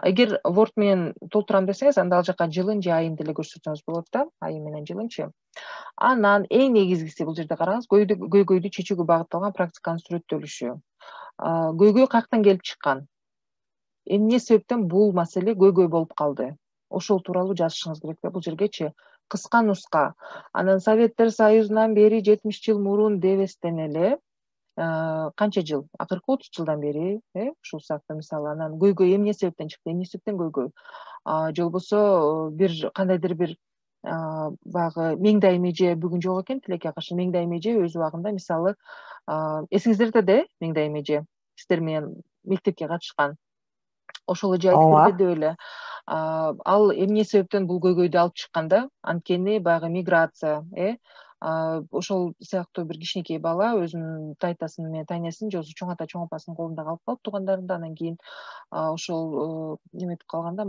Эгер Word менен толтурам десеңиз, анда ал жака жылын же айын деле көрсөтсөңүз болот да, айы менен жылынчы. Анан эң негизгиси бул жерде караңыз, көйгөйдү чечүүгө багытталган практиканын сүрөттөлүшү. Көйгөй каяктан келип чыккан? Эмне себептен бул маселе көйгөй болуп калды? Ошол тууралуу жазышыңыз керек да бул жергечи. Кыска нуска. Анан Советтер Союзунан бери 70 жыл мурун дебестен эле канча жыл? Акыркы 30 жылдан бери, ушул саатта мисалы, анан көйгөй эмне себептен чыкты? Эмне себептен көйгөй? Же болбосо бир кандайдыр бир баягы Меңдай Меже бүгүн жок экен, Тилекке каршы Меңдай Меже өз убагында мисалы эсиңиздерде да Меңдай Меже сиздер менен мектепке катышкан. Ошол эже айтып берди эле. Ал эмне себептен бул көйгөйдү алып чыкканда? Анткени баягы миграция, ошол сыяктуу бир кичинекей бала өзүнүн тайтасын менен тайнесин же болбосо чоң ата чоң апасынын колунда калып калып туугандарында, анан кийин ошол неметип калганда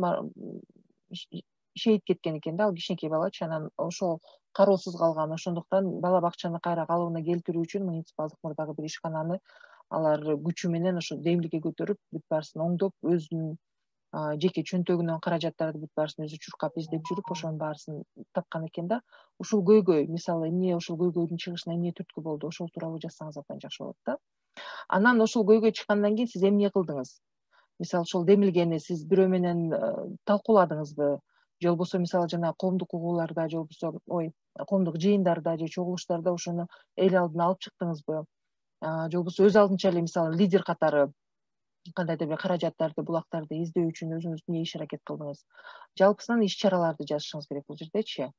шейит кеткен экен да ал кичинекей балачы, анан ошол кароосуз калган. Ошондуктан бала бакчаны кайра калыбына келтирүү үчүн муниципалдык мурдагы бир ишкананы алар күчү менен ошо демиликке көтөрүп бүт баарысын оңдоп, өзүнүн жеке чөнтөгүнөн каражаттарды бүт баарысын өзү чуркап издеп жүрүп, ошонун баарысын тапкан экен да. Ушул көйгөй, мисалы, эмне ушул көйгөйдүн чыгышына эмне түрткү болду? Ошол тууралуу жазсаңыз абдан жакшы болот да. Анан ошол көйгөй чыккандан кийин сиз эмне кылдыңыз? мисалы ошол демилгени сиз бирөө менен талкууладыңызбы, же болбосо мисалы жана коомдук угууларда, же болбосо коомдук жыйындарда же чогулуштарда ошону эл алдына алып чыктыңызбы, же болбосо өз алдынча эле мисалы лидер катары кандайдыр бир каражаттарды, булактарды издөө үчүн өзүңүз эмне иш аракет кылдыңыз? Жалпысынан иш чараларды жазышыңыз керек бул жердечи.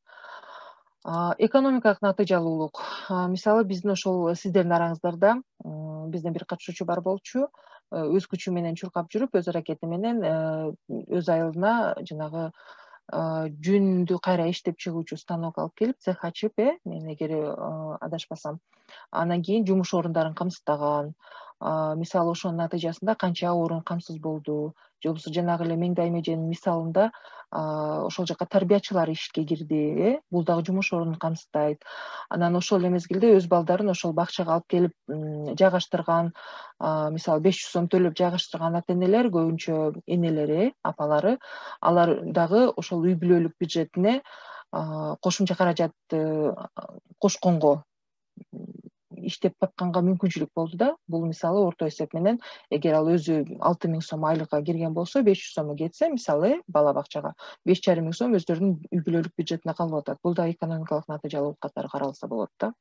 Экономикалык натыйжалуулук. Мисалы биздин ошол сиздердин араңыздарда бизден бир катышуучу бар болчу, өз күчү менен чуркап жүрүп, өз аракети менен өз айылына жанагы жүндү кайра иштеп чыгуучу станок алып келип, цех ачып, мен эгер адашпасам, анан кийин жумуш орундарын камсыздаган. Мисалы ошонун натыйжасында канча орун камсыз болду, же болбосо жанагы эле Меңдай меженин мисалында ошол жака тарбиячылар ишке кирди, бул дагы жумуш орунун камсыздайт. Анан ошол эле мезгилде өз балдарын ошол бакчага алып келип жайгаштырган, мисалы 500 сом төлөп жайгаштырган ата энелер, көбүнчө энелери, апалары, алар дагы ошол үй бүлөлүк бюджетине кошумча каражат кошконго, иштеп тапканга мүмкүнчүлүк болду да. Бул мисалы орто эсеп менен эгер ал өзү 6000 сом айлыкка кирген болсо, 500 сому кетсе, мисалы бала бакчага 5500 сом өздөрүнүн үй бүлөлүк бюджетине калып атат. Бул да экономикалык натыйжалуулук катары каралса болот да.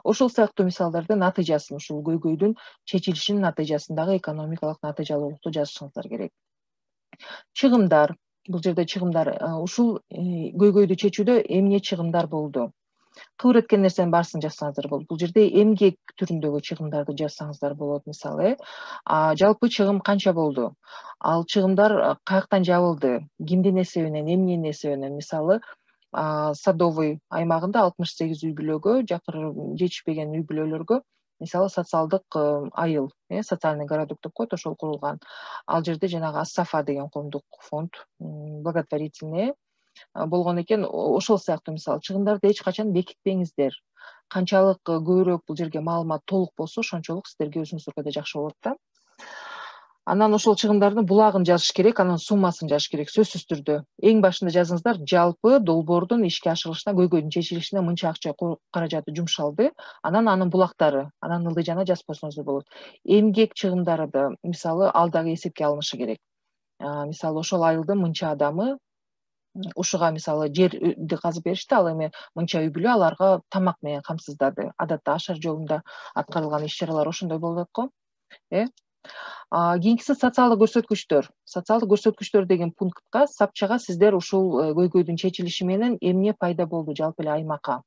Ошол сыяктуу мисалдардын натыйжасын, ушул көйгөйдүн чечилишинин натыйжасындагы экономикалык натыйжалуулукту жазышыңыздар керек. Чыгымдар. Бул жерде чыгымдар, ушул көйгөйдү чечүүдө эмне чыгымдар болду? Кыбыр эткен нерсенин баарысын жазсаңыздар болот. Бул жерде эмгек түрүндөгү чыгымдарды жазсаңыздар болот. Мисалы, жалпы чыгым канча болду? Ал чыгымдар каяктан жабылды? Кимдин эсебинен, эмненин эсебинен? Мисалы, Садовый аймагында 68 үй бүлөгө, жакыр жетишпеген үй бүлөлөргө, мисалы социалдык айыл, социальный городок деп коет, ошол курулган. Ал жерде жанагы Ассафа деген коомдук фонд, благотворительный болгон экен. Ошол сыяктуу мисалы чыгымдарды эч качан бекитпеңиздер. Канчалык көбүрөөк бул жерге маалымат толук болсо, ошончолук сиздерге өзүңүзгө да жакшы болот да. Анан ошол чыгымдардын булагын жазыш керек, анан суммасын жазыш керек, сөзсүз түрдө. Эң башында жазыңыздар, жалпы долбоордун ишке ашырылышына, көйгөйдүн чечилишине мынча акча каражаты жумшалды, анан анын булактары, анан ылдый жана жазып койсоңуздар болот. Эмгек чыгымдары да, мисалы, ал дагы эсепке алынышы керек. Мисалы, ошол айылдын мынча адамы ушуга мисалы жерди казып беришти, ал эми мынча үй бүлө аларга тамак менен камсыздады. Адатта ашар жолунда аткарылган иш чаралар ошондой болуп атат го. Кийинкиси социалдык көрсөткүчтөр. Социалдык көрсөткүчтөр деген пунктка, сапчага сиздер ушул көйгөйдүн чечилиши менен эмне пайда болду жалпы эле аймакка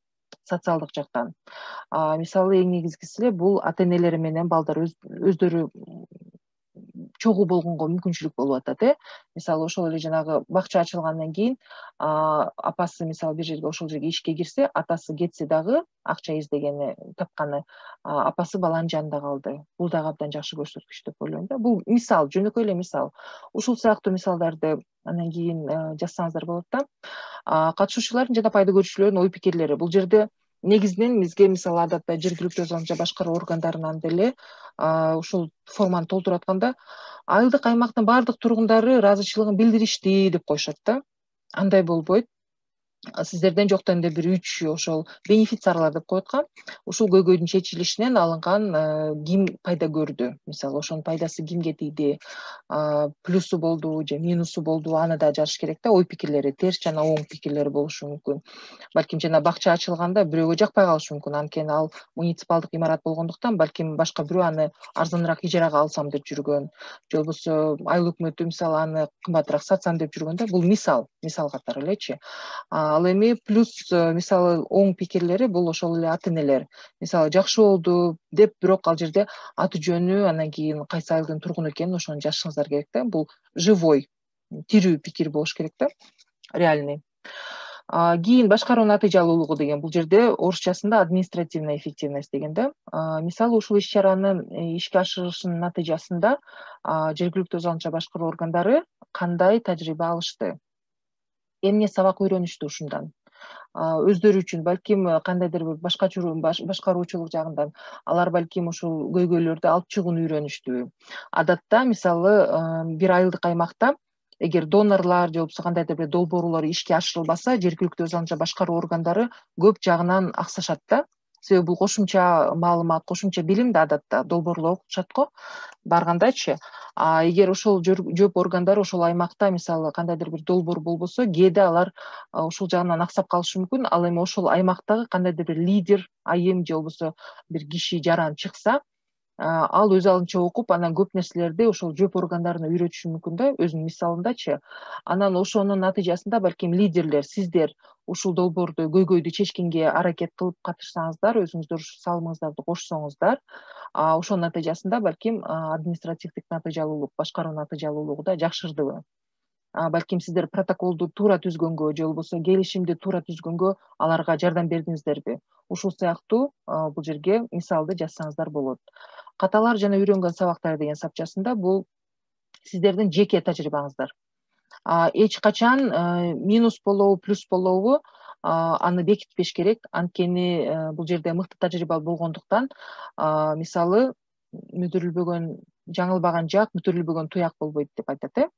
социалдык жактан. Мисалы, эң негизгиси эле бул ата энелери менен балдар өздөрү чогуу болгонго мүмкүнчүлүк болуп атат. Мисалы, ошол эле жанагы бакча ачылгандан кийин апасы мисалы бир жерге ошол жерге ишке кирсе, атасы кетсе дагы акча издегени, тапканы, апасы баланын жанында калды. Бул дагы абдан жакшы көрсөткүч деп ойлойм да. Бул мисал, жөнөкөй эле мисал. Ушул сыяктуу мисалдарды анан кийин жазсаңыздар болот да. Катышуучулардын жана пайда көрүүчүлөрдүн ой пикирлери. Бул жерде негизинен бизге мисалы адатта жергиликтүү өзү башкаруу органдарынан деле ушул форманы толтуруп атканда айылдык аймактын баардык тургундары ыраазычылыгын билдиришти деп коюшат да. Андай болбойт. Сиздерден жоктон эле бир 3 ошол бенефициарлар деп коет го. Ушул көйгөйдүн чечилишинен алынган ким пайда көрдү? Мисалы, ошонун пайдасы кимге тийди? Плюсу болду же минусу болду? Аны да жазыш керек да. Ой пикирлери, терс жана оң пикирлери болушу мүмкүн. Балким жана бакча ачылганда бирөөгө жакпай калышы мүмкүн. Анткени ал муниципалдык имарат болгондуктан, балким башка бирөө аны арзаныраак ижарага алсам деп жүргөн. Же болбосо айыл өкмөтү мисалы аны кымбатыраак сатсам деп жүргөн да. Бул мисал катары элечи. Ал эми плюс мисалы оң пикирлери бул ошол эле ата энелер. Мисалы, жакшы болду деп, бирок ал жерде аты жөнү, анан кийин кайсы айылдын тургуну экенин ошону жазышыңыздар керек да. Бул живой, тирүү пикир болуш керек да, реальный. Кийин башкаруу натыйжалуулугу деген, бул жерде орусчасында административная эффективность деген да. Мисалы, ушул иш чаранын ишке ашырылышынын натыйжасында жергиликтүү өз алдынча башкаруу органдары кандай тажрыйба алышты? Эмне сабак үйрөнүштү ушундан? Өздөрү үчүн, балким кандайдыр бир башкаруучулук жагынан алар балким ушул көйгөйлөрдү алып чыгууну үйрөнүштү. Адатта мисалы бир айылдык аймакта эгер донорлор же болбосо кандайдыр бир долбоорлор ишке ашырылбаса, жергиликтүү өз алдынча башкаруу органдары көп жагынан аксашат да. себеби бул кошумча маалымат, кошумча билим да адатта долбоорлор окутушат го баргандачы. Эгер ошол жооп органдары ошол аймакта мисалы кандайдыр бир долбоор болбосо, кээде алар ушул жагынан аксап калышы мүмкүн. Ал эми ошол аймактагы кандайдыр бир лидер, айым же болбосо бир киши жаран чыкса, ал өз алдынча окуп, анан көп нерселерди ошол жооп органдарына үйрөтүшү мүмкүн да, өзүнүн мисалындачы. Анан ошонун натыйжасында балким лидерлер, сиздер ушул долбоорду көйгөйдү чечкенге аракет кылып катышсаңыздар, өзүңүздөр салымыңыздарды кошсоңуздар, ошонун натыйжасында балким административдик натыйжалуулук, башкаруу натыйжалуулугу да жакшырдыбы. Балким сиздер протоколду туура түзгөнгө же болбосо келишимди туура түзгөнгө аларга жардам бердиңиздерби? Ушул сыяктуу бул жерге мисалды жазсаңыздар болот. Каталар жана үйрөнгөн сабактар деген сапчасында бул сиздердин жеке тажрыйбаңыздар. Эч качан минус болобу, плюс болобу, аны бекитпеш керек. Анткени бул жерде мыкты тажрыйба болгондуктан, мисалы мүдүрүлбөгөн, жаңылбаган жак, мүдүрүлбөгөн туяк болбойт деп айтат.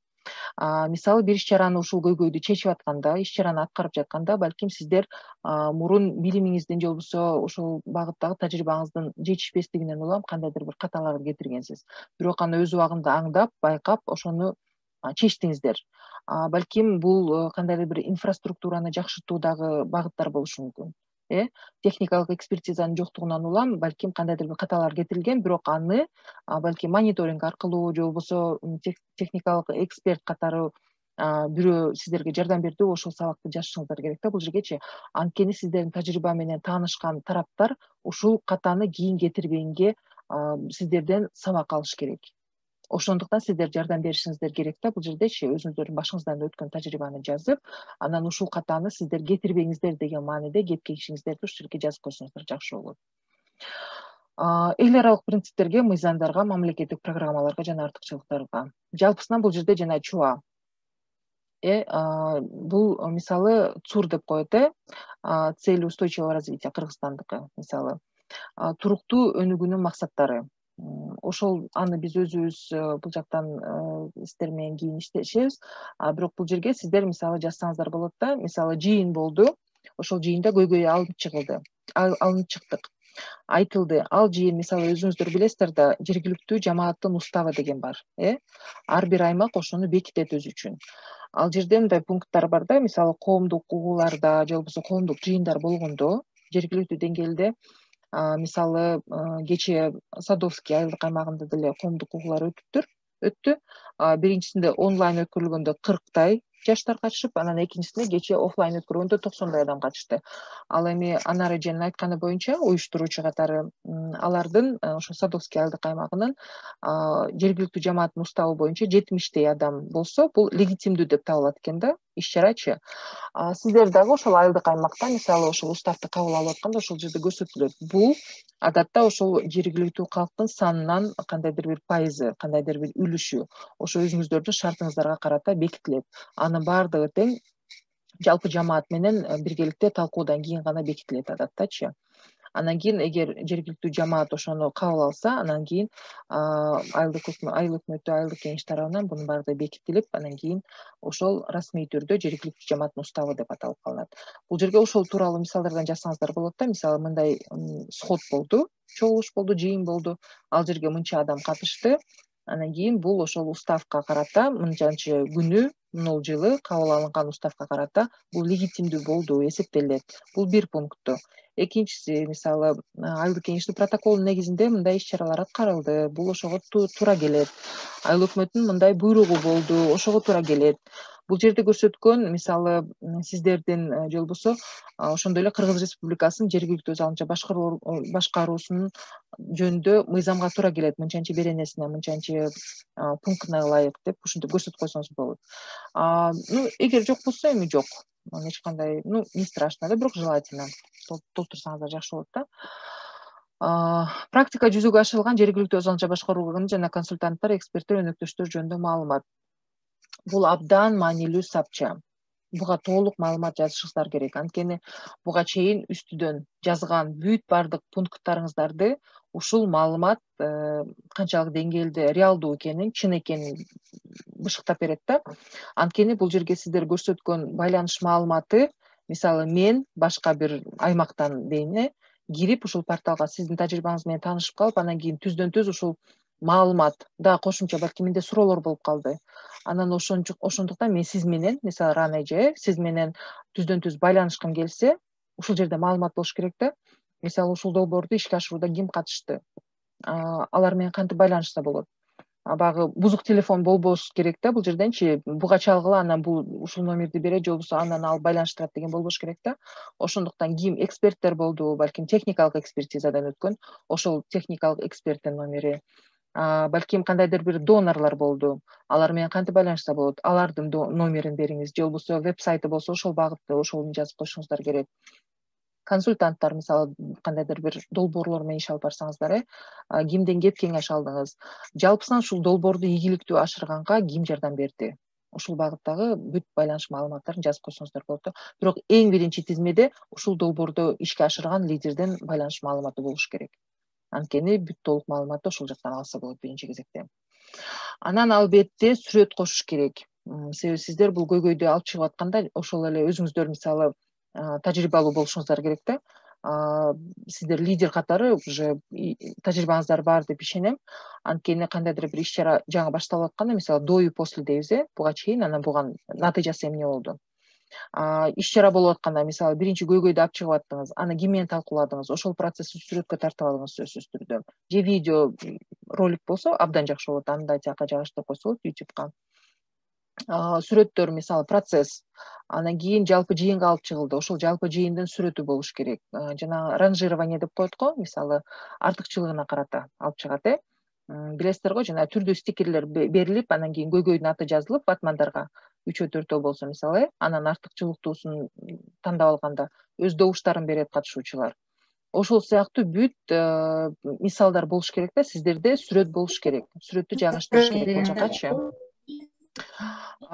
Мисалы бир иш-чараны ушул көйгөйдү чечип атканда, иш-чараны аткарып жатканда, балким сиздер мурун билимиңиздин же болбосо ошол багыттагы тажрыйбаңыздын жетишпестигинен улам кандайдыр бир каталарды кетиргенсиз. Бирок аны өз убагында аңдап, байкап, ошону чечтиңиздер. Балким бул кандайдыр бир инфраструктураны жакшыртуудагы багыттар болушу мүмкүн. Техникалык экспертизанын жоктугунан улам балким кандайдыр бир каталар кетирилген, бирок аны балким мониторинг аркылуу же болбосо техникалык эксперт катары бирөө сиздерге жардам берди, ошол сабакты жазышыңыздар керек да бул жергечи. Анткени сиздердин тажрыйба менен таанышкан тараптар ушул катаны кийин кетирбегенге сиздерден сабак алыш керек. Ошондуктан сиздер жардам беришиңиздер керек да бул жердечи, өзүңүздөрдүн башыңыздан өткөн тажрыйбаны жазып, анан ушул катаны сиздер кетирбеңиздер деген мааниде кеткенишиңиздерди ушул жерге жазып койсоңуздар жакшы болот. Эл аралык принциптерге, мыйзамдарга, мамлекеттик программаларга жана артыкчылыктарга. Жалпысынан бул жерде жана ЧУА. Бул мисалы ЦУР деп коет, цели устойчивого развития Кыргызстандыкы мисалы. Туруктуу өнүгүүнүн максаттары. Ошол аны биз өзүбүз бул жактан сиздер менен кийин иштешебиз. Бирок бул жерге сиздер мисалы жазсаңыздар болот да, мисалы жыйын болду. Ошол жыйында көйгөй алынып чыктык. Айтылды. Ал жыйын мисалы өзүңүздөр билесиздер да, жергиликтүү жамааттын уставы деген бар. Ар бир аймак ошону бекитет өзү үчүн. Ал жерде мындай пункттар бар да, мисалы коомдук угууларда же болбосо коомдук жыйындар болгондо, жергиликтүү деңгээлде мисалы кечээ Садовский айылдык аймагында деле коомдук угуулар өттү. Биринчисинде онлайн өткөрүлгөндө 40 жаштар катышып, анан экинчисинде кечээ офлайн өткөргөндө 90 адам катышты. Ал эми Анар эженин айтканы боюнча, уюштуруучу катары алардын ошо Садовский айылдык аймагынын жергиликтүү жамааттын уставы боюнча 70 адам болсо, бул легитимдүү деп табылат экен да, иш-чарачы. Сиздер дагы ошол айылдык аймакта мисалы ошол уставды кабыл алып атканда ошол жерде көрсөтүлөт. Бул адатта ошол жергиликтүү калктын санынан кандайдыр бир пайызы, кандайдыр бир үлүшү ошо өзүңүздөрдүн шартыңыздарга карата бекитилет. Анын баардыгы тең жалпы жамаат менен биргеликте талкуудан кийин гана бекитилет адаттачы. Анан кийин эгер жергиликтүү жамаат ошону кабыл алса, анан кийин айыл өкмөтү, айылдык кеңеш тарабынан бунун баардыгы бекитилип, анан кийин ошол расмий түрдө жергиликтүү жамааттын уставы деп аталып калат. Бул жерге ошол тууралуу мисалдардан жазсаңыздар болот да, мисалы мындай сход болду, чогулуш болду, жыйын болду, ал жерге мынча адам катышты. Анан кийин бул ошол уставка карата мынчанчы күнү, мынул жылы кабыл алынган уставка карата бул легитимдүү болду, эсептелет. Бул бир пункту. Экинчиси, мисалы, айылдык кеңештин протоколунун негизинде мындай иш-чаралар аткарылды. Бул ошого туура келет. Айыл өкмөтүнүн мындай буйругу болду, ошого туура келет. Бул жерде көрсөткөн, мисалы, сиздердин же болбосо ошондой эле Кыргыз Республикасынын жергиликтүү өз алдынча башкаруусунун жөнүндө мыйзамга туура келет, мынчанчы беренесине, мынчанчы пунктуна ылайык деп ушинтип көрсөтүп койсоңуз болот. Эгер жок болсо эми жок. Эч кандай, не страшно да, бирок желательно толтурсаңыздар жакшы болот да. Практика жүзөгө ашырылган жергиликтүү өз алдынча башкаруу органы жана консультанттар, эксперттер, өнөктөштөр жөнүндө маалымат. Бул абдан маанилүү сапча. Буга толук маалымат жазышыңыздар керек. Анткени буга чейин үстүдөн жазган бүт бардык пункттарыңыздарды ушул маалымат канчалык деңгээлде реалдуу экенин, чын экенин бышыктап берет да. Анткени бул жерге сиздер көрсөткөн байланыш маалыматы, мисалы мен башка бир аймактан дейин, кирип ушул порталга сиздин тажрыйбаңыз менен таанышып калып, анан кийин түздөн түз ушул маалымат дагы кошумча балки менде суроолор болуп калды. Анан ошондуктан мен сиз менен, мисалы рано эже, сиз менен түздөн түз байланышкым келсе, ушул жерде маалымат болуш керек да. Мисалы ушул долбоорду ишке ашырууда ким катышты? Алар менен кантип байланышса болот? Баягы бузук телефон болбош керек да бул жерденчи. Буга чалгыла, анан бул ушул номерди берет, же болбосо анан алып байланыштырат деген болбош керек да. Ошондуктан ким эксперттер болду, балким техникалык экспертизадан өткөн, ошол техникалык эксперттин номери, балким кандайдыр бир донорлор болду, алар менен кантип байланышса болот, алардын номерин бериңиз, же болбосо веб-сайты болсо ошол багытты, ошолун жазып коюшуңуздар керек. Консультанттар, мисалы кандайдыр бир долбоорлор менен иш алып барсаңыздар, кимден кеп кеңеш алдыңыз, жалпысынан ушул долбоорду ийгиликтүү ашырганга ким жардам берди, ушул багыттагы бүт байланыш маалыматтарын жазып койсоңуздар болот да. Бирок эң биринчи тизмеде ушул долбоорду ишке ашырган лидердин байланыш маалыматы болуш керек. Анткени бүт толук маалыматты ошол жактан алса болот биринчи кезекте. Анан албетте сүрөт кошуш керек. Себеби сиздер бул көйгөйдү алып чыгып атканда ошол эле өзүңүздөр мисалы тажрыйбалуу болушуңуздар керек да. Сиздер лидер катары уже тажрыйбаңыздар бар деп ишенем. Анткени кандайдыр бир иш-чара жаңы башталып атканда, мисалы до и после дейбиз, буга чейин, анан буган натыйжасы эмне болду? Иш-чара болуп атканда, мисалы биринчи көйгөйдү алып чыгып аттыңыз, аны ким менен талкууладыңыз, ошол процессти сүрөткө тартып алыңыз сөзсүз түрдө. Же видео ролик болсо абдан жакшы болот, аны да тияка жайгаштырып койсо болот YouTubeга. Сүрөттөр, мисалы процесс, анан кийин жалпы жыйынга алып чыгылды, ошол жалпы жыйындын сүрөтү болуш керек. Жана ранжирование деп коет го, мисалы артыкчылыгына карата алып чыгат, билесиздер го, жана түрдүү стикерлер берилип, анан кийин көйгөйдүн аты жазылып ватмандарга 3-4 болсо мисалы, анан артыкчылыктуусун тандап алганда өз добуштарын берет катышуучулар. Ошол сыяктуу бүт мисалдар болуш керек да, сиздерде сүрөт болуш керек. Сүрөттү жайгаштырыш керек бул жакачы.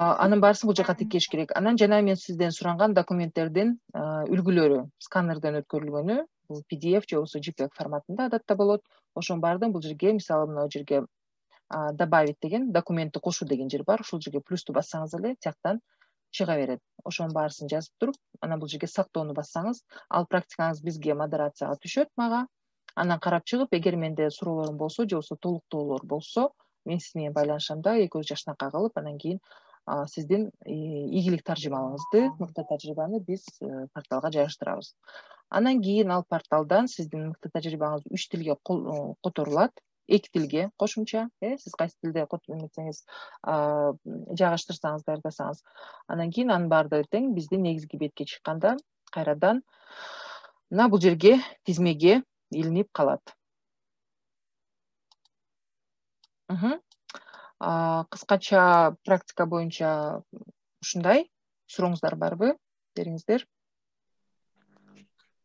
Анын баарысын бул жака тиккеш керек. Анан жана мен сизден суранган документтердин үлгүлөрү сканерден өткөрүлгөнү, бул PDF же болбосо JPEG форматында адатта болот. Ошонун баардыгын бул жерге, мисалы мына жерге добавить деген, документти кошуу деген жер бар. Ушул жерге плюсту бассаңыз эле тияктан чыга берет. Ошонун баарысын жазып туруп, анан бул жерге сактоону бассаңыз, ал практикаңыз бизге модерацияга түшөт, мага. Анан карап чыгып, эгер менде суроолорум болсо, же болбосо толуктоолор болсо, мен сиз менен байланышам да, экөөбүз жакшынакай кылып, анан кийин сиздин ийгилик таржымаңызды, мыкты тажрыйбаны биз порталга жайгаштырабыз. Анан кийин ал порталдан сиздин мыкты тажрыйбаңыз 3 тилге которулат, 2 тилге кошумча, сиз кайсы тилде эметсеңиз жайгаштырсаңыз, даярдасаңыз. Анан кийин анын баардыгы тең биздин негизги бетке чыкканда кайрадан мына бул жерге тизмеге илинип калат. Кыскача практика боюнча ушундай. Сурооңуздар барбы? Бериңиздер.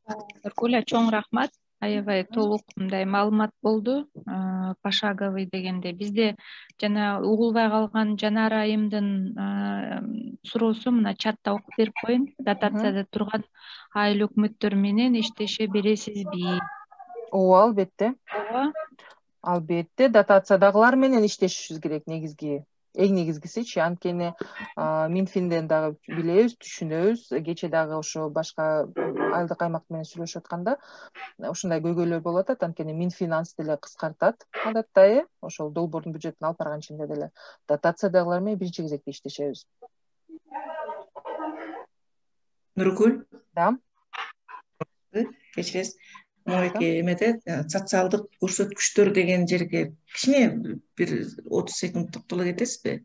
Нургүл, чоң рахмат. Аябай толук мындай маалымат болду. Пошаговый дегенде бизде жана угулбай калган Жанар айымдын суроосу мына чатта окуп берип коеюн. Дотацияда турган айыл өкмөттөр менен иштеше бересизби? Ооба, албетте. Ооба. Албетте, дотациядагылар менен иштешибиз керек негизги. Эң негизгисичи, анткени Минфинден дагы билебиз, түшүнөбүз. Кече дагы ошо башка айылдык аймак менен сүйлөшүп атканда ушундай көйгөйлөр болуп атат, анткени Минфинанс деле кыскартат адатта, ошол долбоордун бюджетин алып барган ичинде деле дотациядагылар менен биринчи кезекте иштешебиз. Нургүл? Да. Кечиресиз. Моеке эмеде социалдык көрсөткүчтөр деген жерге кичине бир 30 секунд токтоло кетесизби?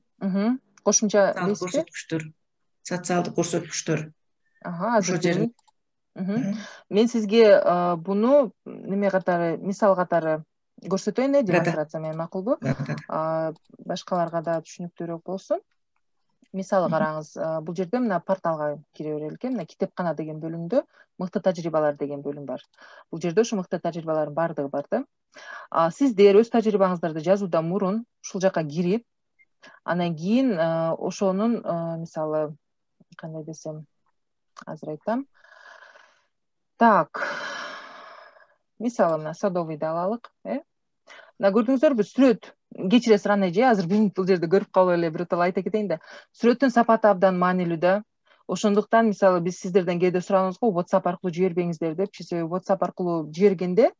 Кошумча көрсөткүчтөр. Социалдык көрсөткүчтөр. Азыр жер. Мен сизге буну неме катары, мисал катары көрсөтөйүн, демонстрация менен, макулбу? Башкаларга да түшүнүктүүрөөк болсун. Мисалы караңыз, бул жерде мына порталга кире берелик. Мына китепкана деген бөлүмдө мыкты тажрыйбалар деген бөлүм бар. Бул жерде ушу мыкты тажрыйбалардын баардыгы бар да. Сиздер өз тажрыйбаңыздарды жазуудан мурун ушул жака кирип, анан кийин ошонун мисалы кандай десем, азыр айтам. Так. Мисалы мына садовыйды алалык, Мына көрдүңүздөрбү, сүрөт. Кечиресиз Рана эже, азыр бул жерде көрүп калып эле биротоло айта кетейин да. Сүрөттүн сапаты абдан маанилүү да. Ошондуктан мисалы биз сиздерден кээде суранабыз го WhatsApp аркылуу жибербеңиздер депчи. Себеби WhatsApp аркылуу жибергенде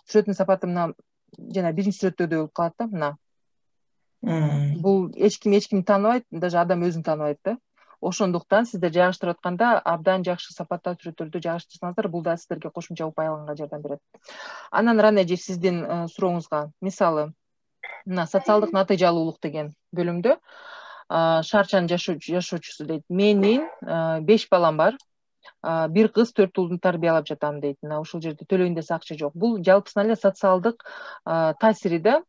сүрөттүн сапаты мына жана биринчи сүрөттөгүдөй болуп калат да. Мына бул эч ким тааныбайт, даже адам өзүн тааныбайт да. Ошондуктан сиздер жайгаштырып атканда абдан жакшы сапаттуу сүрөттөрдү жайгаштырсаңыздар, бул да сиздерге кошумча упай жардам берет. Анан Рана эже сиздин сурооңузга, мисалы мына социалдык натыйжалуулук деген бөлүмдө шаарчанын жашоочусу дейт. Менин 5 балам бар. 1 кыз 4 уулду тарбиялап жатам дейт. Мына ушул жерде төлөйүн десе акча жок. Бул жалпысынан эле социалдык таасири да.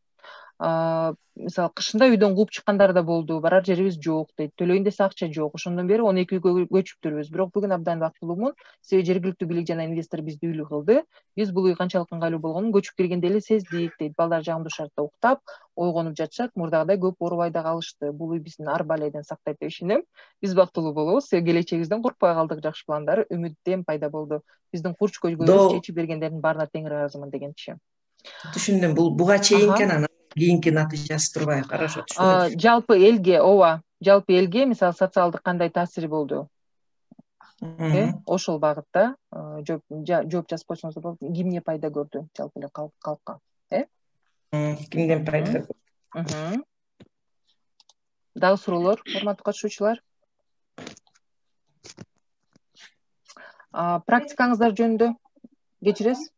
Мисалы кышында үйдөн кууп чыккандар да болду. Барар жерибиз жок дейт. Төлөйүн десе акча жок. Ошондон бери 12 үйгө көчүптүрбүз. Бирок бүгүн абдан бактылуумун. Себеби жергиликтүү бийлик жана инвестор бизди үйлүү кылды. Биз бул үй канчалык ыңгайлуу болгонун көчүп келгенде эле сездик дейт. Балдар жагымдуу шартта уктап, ойгонуп жатышат. Мурдагыдай көп оорубай да калышты. Бул үй биздин ар баледен сактайт деп ишенем. Биз бактылуу болобуз. Себеби келечегибизден коркпой калдык. Жакшы пландар, үмүттен пайда болду. Биздин курч көйгөйүбүз чечип бергендердин баарына тең ыраазымын дегенчи. Түшүндүм. Бул буга чейинки анан кийинки натыйжасы турбайбы? Хорошо, түшүндүм. Жалпы элге, жалпы элге мисалы социалдык кандай таасири болду? Ошол багытта жооп жазып койсоңуздар болот. Кимге пайда көрдү жалпы эле калкка? Кимден пайда көрдү? Дагы суроолор, урматтуу катышуучулар? Практикаңыздар жөнүндө кечиресиз?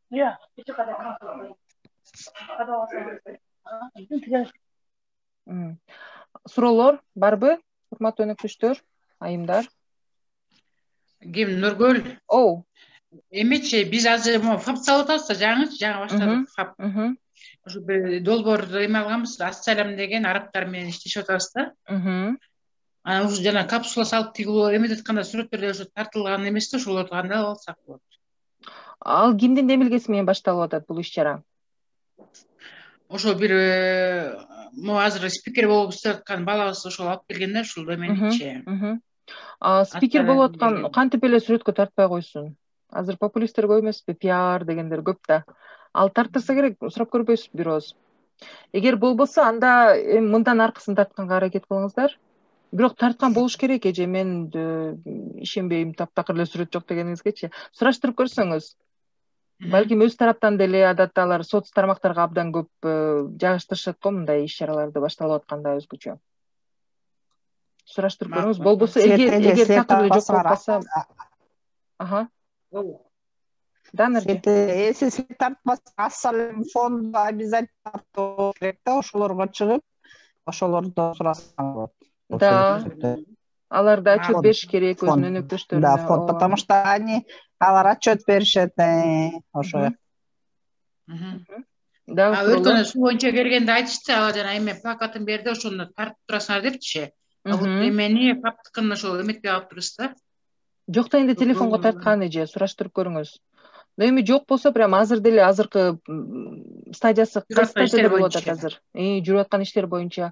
Суроолор барбы, урматтуу өнөктөштөр, айымдар? Ким, Нургүл? Эмечи, биз азыр фап салып атабыз да, жаңы баштадык фап. Ушу бир долбоорду эме алганбыз, Ассалам деген арабтар менен иштешип атабыз да. Анан ушу жана капсула салып тигилүү эметип атканда сүрөттөрдө ушу тартылган эмес да, ошолорду кандай алсак болот? Ал кимдин демилгеси менен башталып атат бул иш-чара? Ошо бир азыр спикер болуп иштеп аткан балабыз ошол алып келген да, ушул эменичи. Спикер болуп аткан кантип эле сүрөткө тартпай койсун? Азыр популисттер көп эмеспи, пиар дегендер көп да. Ал тарттырса керек, сурап көрбөйсүзбү бир ооз? Эгер болбосо, анда мындан аркысын тартканга аракет кылыңыздар. Бирок тарткан болуш керек эже, мен ишенбейм, таптакыр эле сүрөт жок дегениңизгечи. Сураштырып көрсөңүз, балким өз тараптан деле адатта алар соц тармактарга абдан көп жайгаштырышат го мындай иш-чараларды башталып атканда өзгөчө. Сураштырып көрүңүз. Болбосо эгер такыр эле жок болуп калса, Эсеси тартпаса, Ассалам фонду обязательно тартуу керек да, ошолорго чыгып, ошолордо сурасаң болот. Да, алар да отчет бериш керек өзүнүн өнөктөштөрүнө. Да, фонд, потому что алар отчет беришет, ошо. Өткөн суу боюнча келгенде айтышты, алар жана эме плакатын берди, ошону тартып турасыңар депчи. Вот эмени фактыкын ошо эметпей калыптырбыз да. Жок да, энди телефонго тарткан эже, сураштырып көрүңүз. Но эми жок болсо, прям азыр деле азыркы стадиясы кайсы стадияда болуп атат азыр? Жүрүп аткан иштер боюнча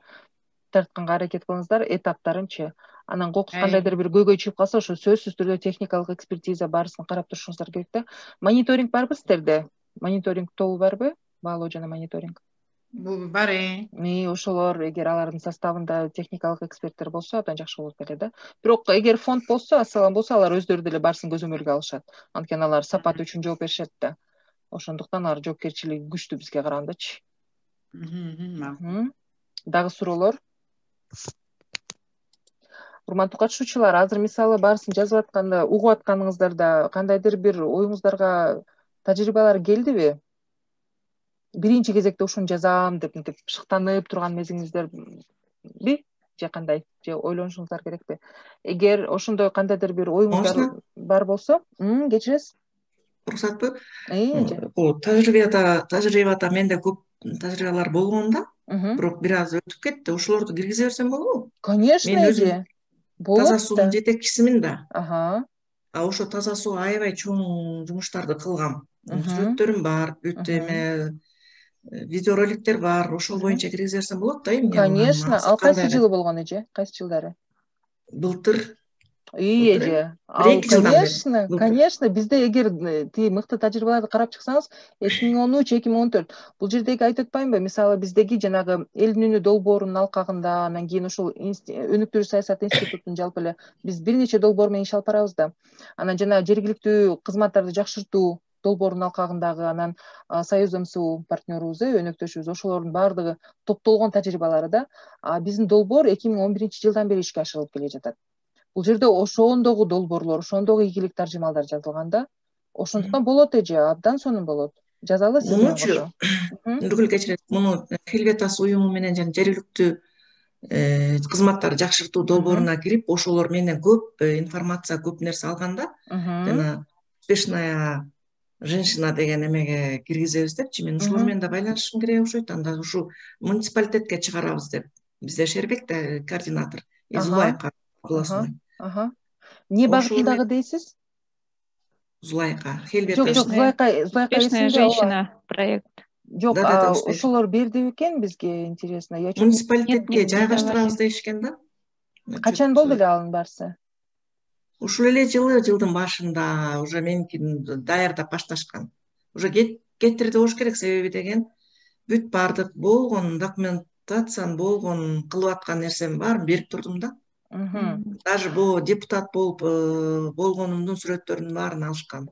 тартканга аракет кылыңыздар, этаптарынчы. Анан кокус кандайдыр бир көйгөй чыгып калса, ошо сөзсүз түрдө техникалык экспертиза баарысын карап турушуңуздар керек да. Мониторинг барбы сиздерде? Мониторинг тобу барбы? Баалоо жана мониторинг. Бар. Ошолор, эгер алардын составында техникалык эксперттер болсо, абдан жакшы болот беле да. Бирок эгер фонд болсо, Ассалам болсо, алар өздөрү деле баарысын көзөмөлгө алышат. Анткени алар сапат үчүн жооп беришет да. Ошондуктан алар жоопкерчилиги күчтүү бизге карагандачы. Дагы суроолор? Урматтуу катышуучулар, азыр мисалы баарысын жазып атканда, угуп атканыңыздарда кандайдыр бир оюңуздарга тажрыйбалар келдиби? Биринчи кезекте ушуну жазам деп мынтип шыктанып турган мезгилиңиздерби? Же кандай? Же ойлонушуңуздар керекпи? Эгер ошондой кандайдыр бир оюңуздар бар болсо, кечиресиз? Уруксатпы? Бул тажрыйбада менде көп тажрыйбалар болгон да. Бирок бир аз өтүп кетти. Ошолорду киргизе берсем болобу? Конечно, мен өзүм таза суунун жетекчисимин да. Ошо таза суу аябай чоң жумуштарды кылгам. Сүрөттөрүм бар, бүт эме видеороликтер бар. Ошол боюнча киргизе берсем болот да эмне? Конечно. Ал кайсы жылы болгон эже? Кайсы жылдары? Былтыр. эже. Конечно, бизде эгер тиги мыкты тажрыйбаларды карап чыксаңыз, 2013-2014 бул жердеги айтып атпаймынбы? Мисалы биздеги жанагы эл үнү долбоорунун алкагында, анан кийин ушул өнүктүрүү саясат институтунун жалпы эле биз бир нече долбоор менен иш алып барабыз да. Анан жана жергиликтүү кызматтарды жакшыртуу долбоорунун алкагындагы, анан Союз МСУ партнерубуз, өнөктөшүбүз, ошолордун баардыгы топтолгон тажрыйбалары да биздин долбоор 2011-жылдан бери ишке ашырылып келе жатат. Бул жерде ошондогу долбоорлор, ошондогу ийгилик таржымалдар жазылган да. Ошондуктан болот эже, абдан сонун болот. Жазалы сиз менен кошо. Нургүл кечирет, муну Helvetas уюму менен жана жергиликтүү кызматтарды жакшыртуу долбооруна кирип, ошолор менен көп информация, көп нерсе алганда, жана успешная женщина деген эмеге киргизебиз депчи, мен ошолор менен да байланышым керек окшойт. Анда ушу муниципалитетке чыгарабыз деп. Бизде Шербек да координатор, Зулайка областной. Не багытындагы дейсиз? Зулайка, Helvetas. Жок, Зулайка Успешная женщина проект. Жок, ошолор берди бекен бизге, интересно. Муниципалитетке жайгаштырабыз дешкен да. Качан болду эле анын баарысы? Ушул эле жылдын башында уже меникин даярдап башташкан. Уже кетирди болуш керек, себеби деген бүт баардык болгон документацияны, болгон кылып аткан нерсемин баарын берип турдум да. Даже бул депутат болуп болгонумдун сүрөттөрүнүн баарын алышкан.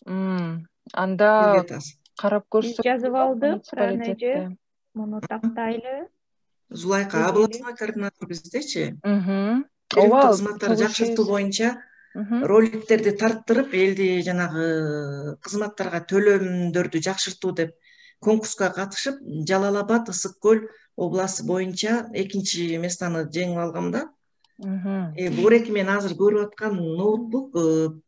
Анда карап көрсөк. Биз жазып алдык, эже. Муну тактайлы. Зулайка областной координатор биздечи. Ооба, кызматтарды жакшыртуу боюнча роликтерди тарттырып, элди жанагы кызматтарга төлөмдөрдү жакшыртуу деп конкурска катышып, Жалал Абад, Ысык Көл областы боюнча 2-чи местаны жеңип алгам да. Буреки мен азыр көрүп аткан ноутбук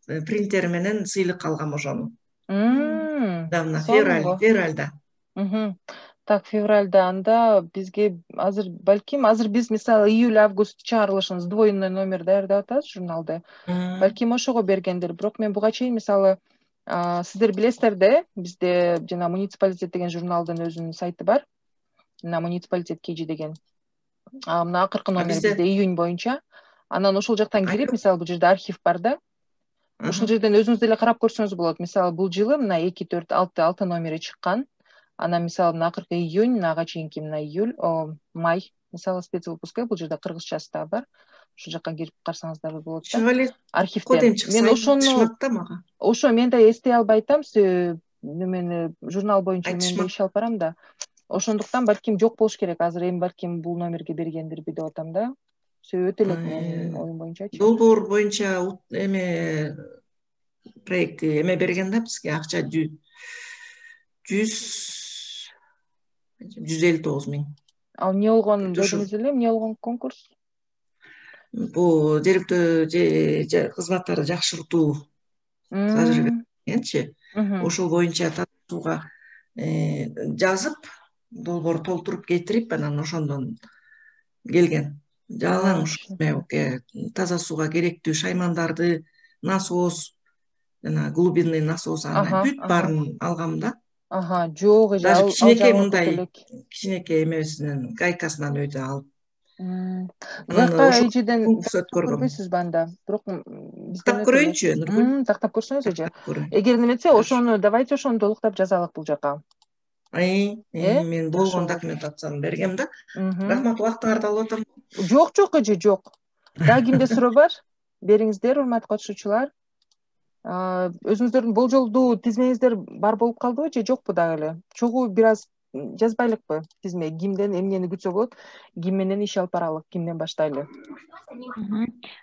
принтери менен сыйлык алгам ошону. Давно февралда. Так, февралда анда бизге азыр биз мисалы июль-август чыгарылышын сдвоенный номер даярдап атабыз журналды. Балким ошого бергендир. Бирок мен буга чейин мисалы сиздер билесиздер да, бизде жана муниципалитет деген журналдын өзүнүн сайты бар. Мына муниципалитет KG деген. Мына акыркы номер бизде июнь боюнча. Анан ошол жактан кирип, мисалы бул жерде архив бар да. Ошол жерден өзүңүз деле карап көрсөңүз болот. Мисалы бул жылы мына 2, 4, 6 номери чыккан. Анан мисалы мына акыркы июнь, мынага чейинки мына июль, май, мисалы спецвыпуска бул жерде кыргызчасы да бар. Ошол жакка кирип карасаңыздар болот да. Архивден. Мен ошо мен да эстей албай атам, немени журнал боюнча мен да иш алып барам да. Ошондуктан балким жок болуш керек. Азыр эми балким бул номерге бергендирби деп атам да. Өтө элек менин оюм боюнчачы. Долбоор боюнча эме проекти эме берген да бизге акча 159 миң. Ал эмне болгон дедиңиз эле, эмне болгон конкурс? Бул жергиликтүү кызматтарды жакшыртуу тажрыйбачы. Ошол боюнча тазасууга жазып, долбоор толтуруп кетирип, анан ошондон келген. Жалаң таза сууга керектүү шаймандарды, насос, жана глубинный насос, анан бүт баарын алгам да. Жок, даже кичинекей мындай кичинекей эмесинен, гайкасынан өйдө алып. Эжеден көрбөйсүзбү анда? Бирок тактап көрөйүнчү. Тактап көрсөңүз эже. Эгер неметсе, ошону давайте ошону толуктап жазалык бул жака. Мен болгон документацияны бергем да. Рахмат, убактыңарды алып атам. Жок эже, жок. Дагы кимде суроо бар? Бериңиздер, урматтуу катышуучулар. Өзүңүздөрдүн болжолдуу тизмеңиздер бар болуп калдыбы же жокпу дагы эле? Чогуу бир аз жазбайлыкпы тизме? Кимден эмнени күтсө болот? Ким менен иш алып баралык? Кимден баштайлы?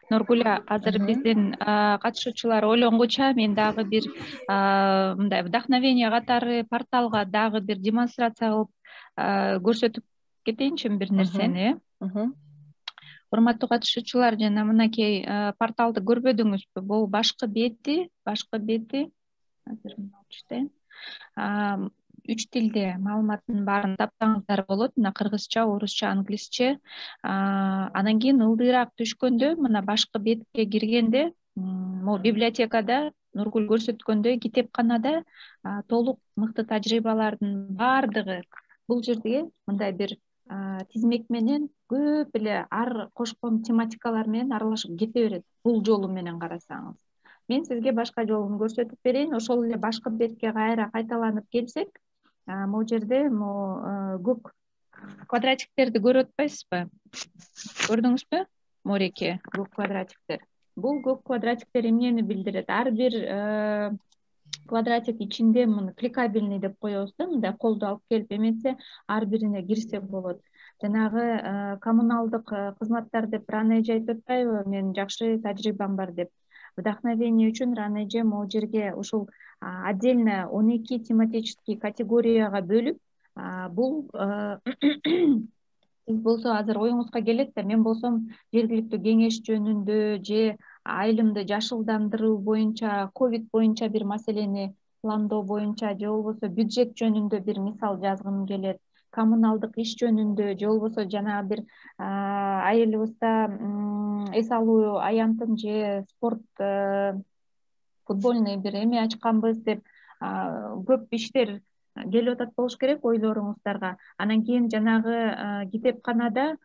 Нургүл, азыр биздин катышуучулар ойлонгуча мен дагы бир мындай вдохновение катары порталга дагы бир демонстрация кылып көрсөтүп кетейинчи бир нерсени. Урматтуу катышуучулар, жана мынакей порталды көрбөдүңүзбү? Бул башкы бети. Азыр чыктайын. 3 тилде маалыматтын баарын таптаңыздар болот. Мына кыргызча, орусча, англисче. Анан кийин ылдыйраак түшкөндө, мына башкы бетке киргенде, могу библиотекада Нургүл көрсөткөндөй китепканада толук мыкты тажрыйбалардын баардыгы бул жерде мындай бир тизмек менен көп эле ар кошкон тематикалар менен аралашып кете берет. Бул жолу менен карасаңыз. Мен сизге башка жолун көрсөтүп берейин. Ошол эле башкы бетке кайталанып келсек, могу жерде көк квадратиктерди көрүп атпайсызбы? Көрдүңүзбү? Мореке, көк квадратиктер. Бул көк квадратиктер эмнени билдирет? Ар бир квадратик ичинде муну кликабельный деп коебуз да, мындай колду алып келип эметсе, ар бирине кирсе болот. Жанагы коммуналдык кызматтар деп рано эже айтып атпайбы? Менин жакшы тажрыйбам бар деп. Вдохновение үчүн рано эже могу жерге ушул отдельно 12 тематический категорияга бөлүп, бул сиз болсо азыр оюңузга келет да, мен болсом жергиликтүү кеңеш жөнүндө же айылымды жашылдандыруу боюнча, ковид боюнча бир маселени пландоо боюнча же болбосо бюджет жөнүндө бир мисал жазгым келет, коммуналдык иш жөнүндө же болбосо жанагы бир айылыбызда эс алуу аянтын же спорт футбольный бир эме ачканбыз деп көп иштер келип атат болуш керек ойлоруңуздарга. Анан кийин жанагы китепканада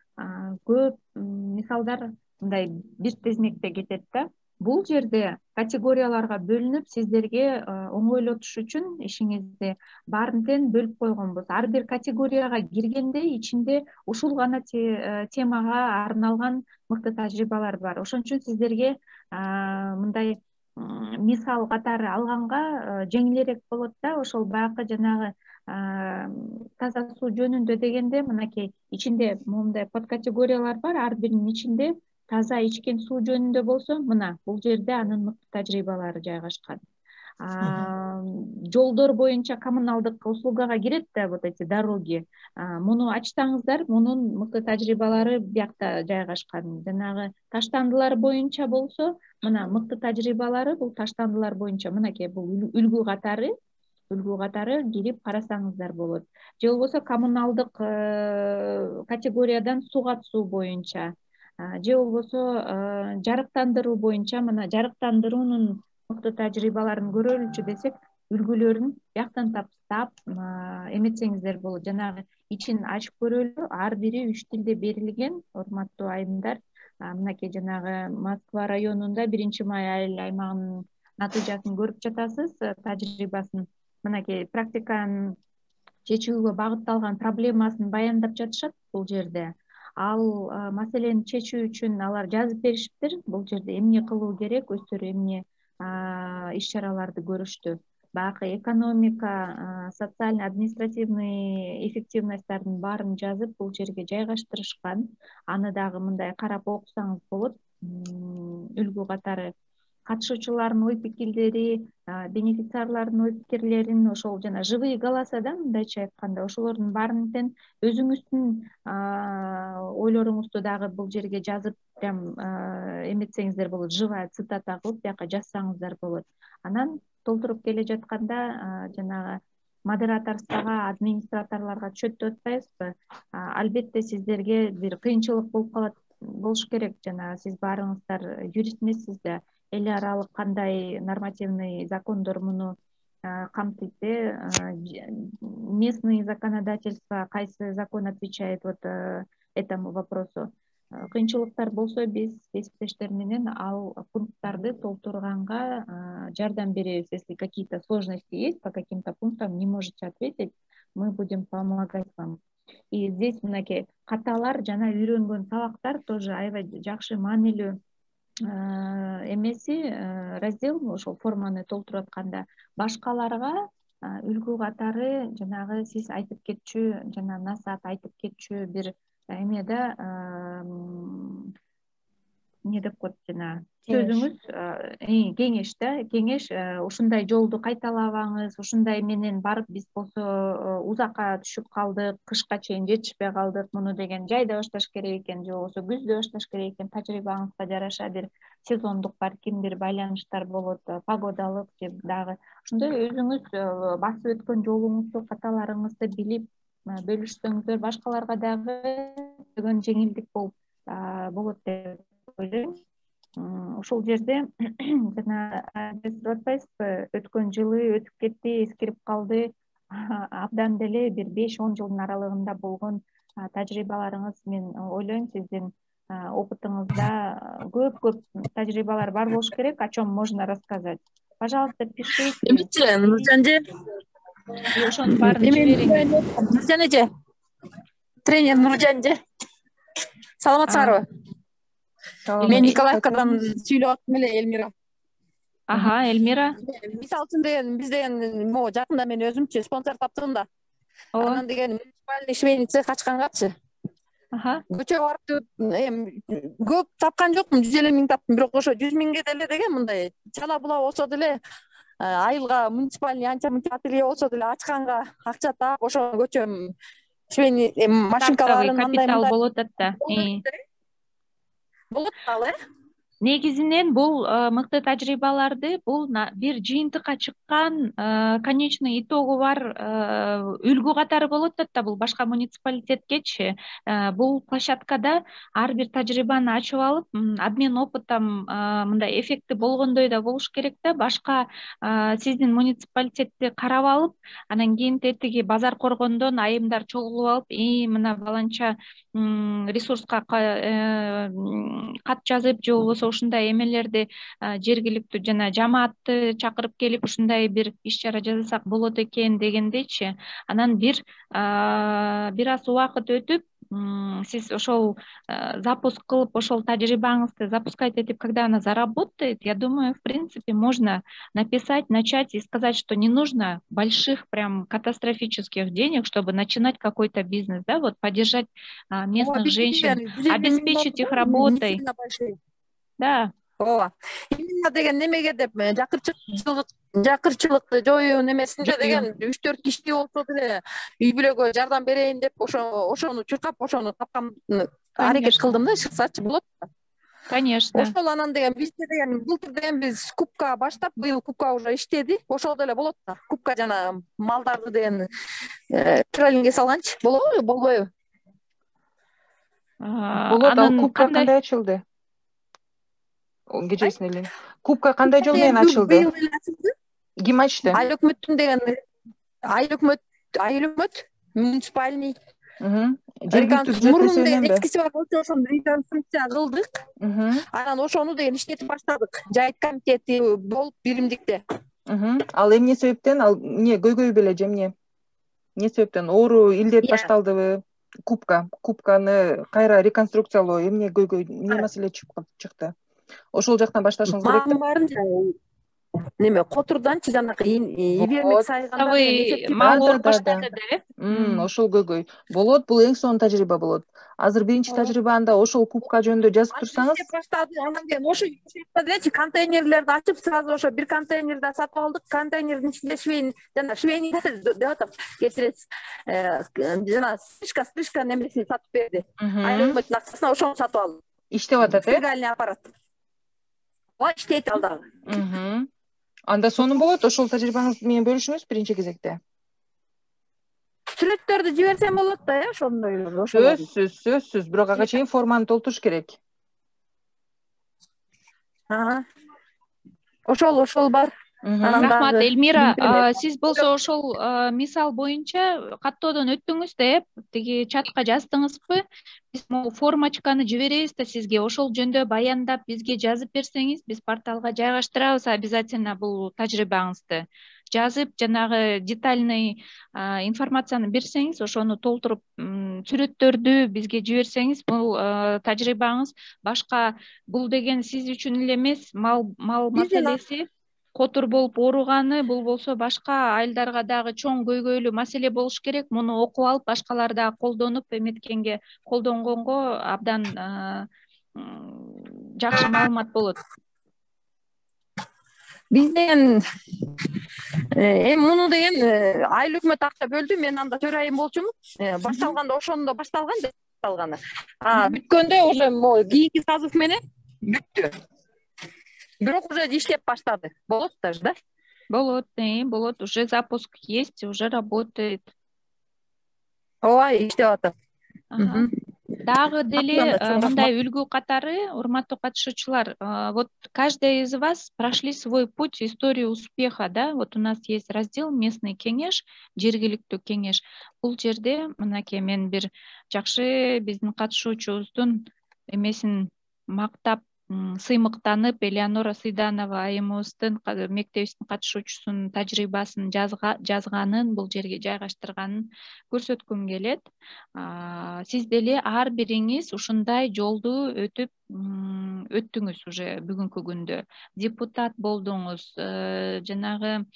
көп мисалдар мындай бир тизмекте кетет да. Бул жерде категорияларга бөлүнүп, сиздерге оңойлотуш үчүн ишиңизди баарын тең бөлүп койгонбуз. Ар бир категорияга киргенде ичинде ушул гана темага арналган мыкты тажрыйбалар бар. Ошон үчүн сиздерге мындай мисал катары алганга жеңилирээк болот да. Ошол баягы жанагы таза суу жөнүндө дегенде, мынакей ичинде моундай подкатегориялар бар. Ар биринин ичинде таза ичкен суу жөнүндө болсо, мына бул жерде анын мыкты тажрыйбалары жайгашкан. Жолдор боюнча коммуналдык услугага кирет да, вот эти дороги. Муну ачсаңыздар, мунун мыкты тажрыйбалары биякта жайгашкан. Жанагы таштандылар боюнча болсо, мына мыкты тажрыйбалары бул таштандылар боюнча, мынакей бул үлгү катары кирип карасаңыздар болот. Же болбосо коммуналдык категориядан суга суу боюнча, же болбосо жарыктандыруу боюнча, мына жарыктандыруунун мыкты тажрыйбаларын көрөлүчү десек, үлгүлөрүн бияктан таптап эметсеңиздер болот. Жанагы ичин ачып көрөлү, ар бири 3 тилде берилген, урматтуу айымдар. Мынакей жанагы Москва районунда 1-май айыл аймагынын натыйжасын көрүп жатасыз, тажрыйбасын. Мынакей практиканын чечүүгө багытталган проблемасын баяндап жатышат бул жерде. Ал маселени чечүү үчүн алар жазып беришиптир. Бул жерде эмне кылуу керек, өздөрү эмне иш-чараларды көрүштү. Баягы экономика, социально административный эффективностьтардын баарын жазып бул жерге жайгаштырышкан. Аны дагы мындай карап окусаңыз болот. Үлгү катары катышуучулардын ой пикирлери, бенефициарлардын ой пикирлерин, ошол жана живые голоса да, мындайча айтканда, ошолордун баарын тең өзүңүздүн ойлоруңузду дагы бул жерге жазып, прям эметсеңиздер болот, живая цитата кылып бияка жазсаңыздар болот. Анан толтуруп келе жатканда жанагы модераторствого, администраторлорго түшөт деп атпайбызбы? Албетте сиздерге бир кыйынчылык болуп калат болуш керек. Жана сиз баарыңыздар юрист эмессиз да, эл аралык кандай нормативный закондор муну камтыйт, местный законодательство, кайсы закон отвечает вот этому вопросу. Кыйынчылыктар болсо биз кесиптештер менен ал пункттарды толтурганга жардам беребиз. Если какие-то сложности есть по каким-то пунктам, не можете ответить, мы будем помогать вам. И здесь мынакей каталар жана үйрөнгөн сабактар тоже аябай жакшы маанилүү эмеси раздел. Ошол форманы толтуруп атканда башкаларга үлгү катары жанагы сиз айтып кетчү, жана насаат айтып кетчү бир эме да, эмне деп коет жана сөзүңүз, кеңеш да, кеңеш ушундай жолду кайталабаңыз, ушундай менен барып биз болсо узакка түшүп калдык, кышка чейин жетишпей калдык, муну деген жайда башташ керек экен, же болбосо күздө башташ керек экен, тажрыйбаңызга жараша бир сезондук балким бир байланыштар болот, погодалык же дагы ошондой өзүңүз басып өткөн жолуңузду, каталарыңызды билип бөлүшсөңүздөр башкаларга дагы деген жеңилдик болот деп ойлойм. Ушул жерде жана деп атпайсызбы, өткөн жылы өтүп кетти, эскирип калды, абдан деле бир 5-10 жылдын аралыгында болгон тажрыйбаларыңыз, мен ойлойм сиздин опытыңызда көп тажрыйбалар бар болуш керек, о чем можно рассказать. Пожалуйста, пишите. Эмче, Нуржан эже. Ошонун баарын жибериңиз. Нуржан эже. Тренер Нуржан эже. Саламатсыздарбы? Мен Николаевкадан сүйлөп аттым эле, Элмира. Элмира. Мисалы үчүн деген биз деген могу жакында мен өзүмчү спонсор таптым да. Анан деген муниципальный швейный цех ачкангачы. Көчөгө барып көп тапкан жокмун, 150 миң таптым, бирок ошо 100 миңге деле деген мындай чала була болсо деле айылга муниципальный анча мынча ателье болсо деле ачканга акча таап, ошо көчө швейный машинкаларын капитал болот да. Болот ал, Негизинен бул мыкты тажрыйбаларды бул бир жыйынтыкка чыккан конечный итогу бар үлгү катары болот да. Бул башка муниципалитеткечи бул площадкада ар бир тажрыйбаны ачып алып, обмен опытом мындай эффекти болгондой да болуш керек да. Башка сиздин муниципалитетти карап алып, анан кийин тетиги базар коргондон айымдар чогулуп алып, мына баланча ресурска кат жазып же болбосо ушундай эмелерди жергиликтүү жана жамаатты чакырып келип ушундай бир иш чара жасасак болот экен дегендейчи. Анан бир аз убакыт өтүп, сиз ошол запуск кылып, ошол тажрыйбаңызды запускать этип, когда она заработает, я думаю, в принципе, можно написать, начать и сказать, что не нужно больших, прям катастрофических денег, чтобы начинать какой-то бизнес, да, вот поддержать местных женщин, обеспечить их работой. Да. Ооба. Именно деген немеге деп жакырчылыкты жоюу немесинде деген 3-4 киши болсо деле үй бүлөгө жардам берейин деп ошону чуркап, ошону тапкан аракет кылдым да, чыксачы болот да. Конечно. Ошол анан деген бизде деген былтыр деген биз кубка баштап, быйыл кубка уже иштеди. Ошол деле болот да. Кубка жана малдарды деген троллингге салганчы болобу, болбойбу? Болот. Ал кубка кандай ачылды? Кечесин эле. Кубка кандай жол менен ачылды? Ким ачты? Айыл өкмөттүн деген айыл өкмөт муниципальный мурун деген эскиси бар болчу, ошону реконструкция кылдык. Анан ошону деген иштетип баштадык. Жайыт комитети болуп биримдикте. Ал эмне себептен, ал эмне көйгөй беле же эмне? Эмне себептен оору илдет башталдыбы? Кубканы кайра реконструкциялоо эмне көйгөй, эмне маселе чыкты? Ошол жактан башташыңыз керек да. Неме Котурданчы жанакы Ибермек сайганда мал ооруп баштады да. Ошол көйгөй болот. Бул эң сонун тажрыйба болот. Азыр биринчи тажрыйбанда ошол кубка жөнүндө жазып турсаңыз. Анан кейін ошо дечи контейнерлерди ачып, сразу ошо бир контейнерди сатып алдык. Контейнердин ичинде швейный деп атам, кечиресиз. Жана стрижка немесин сатып берди. Айрылмайтын акчасына ошону сатып алдык. Иштеп атат, стиральный аппарат. Иштейт ал дагы. Анда сонун болот. Ошол тажрыйбаңызды менен бөлүшүңүз биринчи кезекте. Сүрөттөрдү жиберсем болот да, ошондой. Сөзсүз. Бирок ага чейин форманы толтуруш керек. Ошол бар. Рахмат, Элмира. Сиз болсо ошол мисал боюнча каттоодон өттүңүз да, тиги чатка жаздыңызбы? Биз могу формочканы жиберебиз да сизге. Ошол жөнүндө баяндап бизге жазып берсеңиз, биз порталга жайгаштырабыз обязательно бул тажрыйбаңызды. Жазып, жанагы детальный информацияны берсеңиз, ошону толтуруп, сүрөттөрдү бизге жиберсеңиз, бул тажрыйбаңыз башка, бул деген сиз үчүн эле эмес, мал маселеси котур болуп ооруганы, бул болсо башка айылдарга дагы чоң көйгөйлүү маселе болуш керек. Муну окуп алып, башкалар дагы колдонуп, эметкенге, колдонгонго абдан жакшы маалымат болот. Биз деген муну деген айыл өкмөт акча бөлдү, мен анда төрайым болчумун. Башталганда ошондо башталган деп башталганы. Бүткөндө уже кийинки созыв менен бүттү. Бирок уже иштеп баштады. Болот даже, да? Болот. Уже запуск есть, уже работает. Ооба, иштеп атат. дагы деле мындай үлгү катары, урматтуу катышуучулар, вот каждый из вас прошли свой путь, историю успеха, да, вот у нас есть раздел местный кеңеш, жергиликтүү кеңеш. Бул жерде мынакей мен бир жакшы биздин катышуучубуздун эмесин мактап, сыймыктанып, Элеонора Сыйданова айымыбыздын мектебибиздин катышуучусунун тажрыйбасын жазганын, бул жерге жайгаштырганын көрсөткүм келет. Сиз деле ар бириңиз ушундай жолду өттүңүз уже бүгүнкү күндө. Депутат болдуңуз, жанагы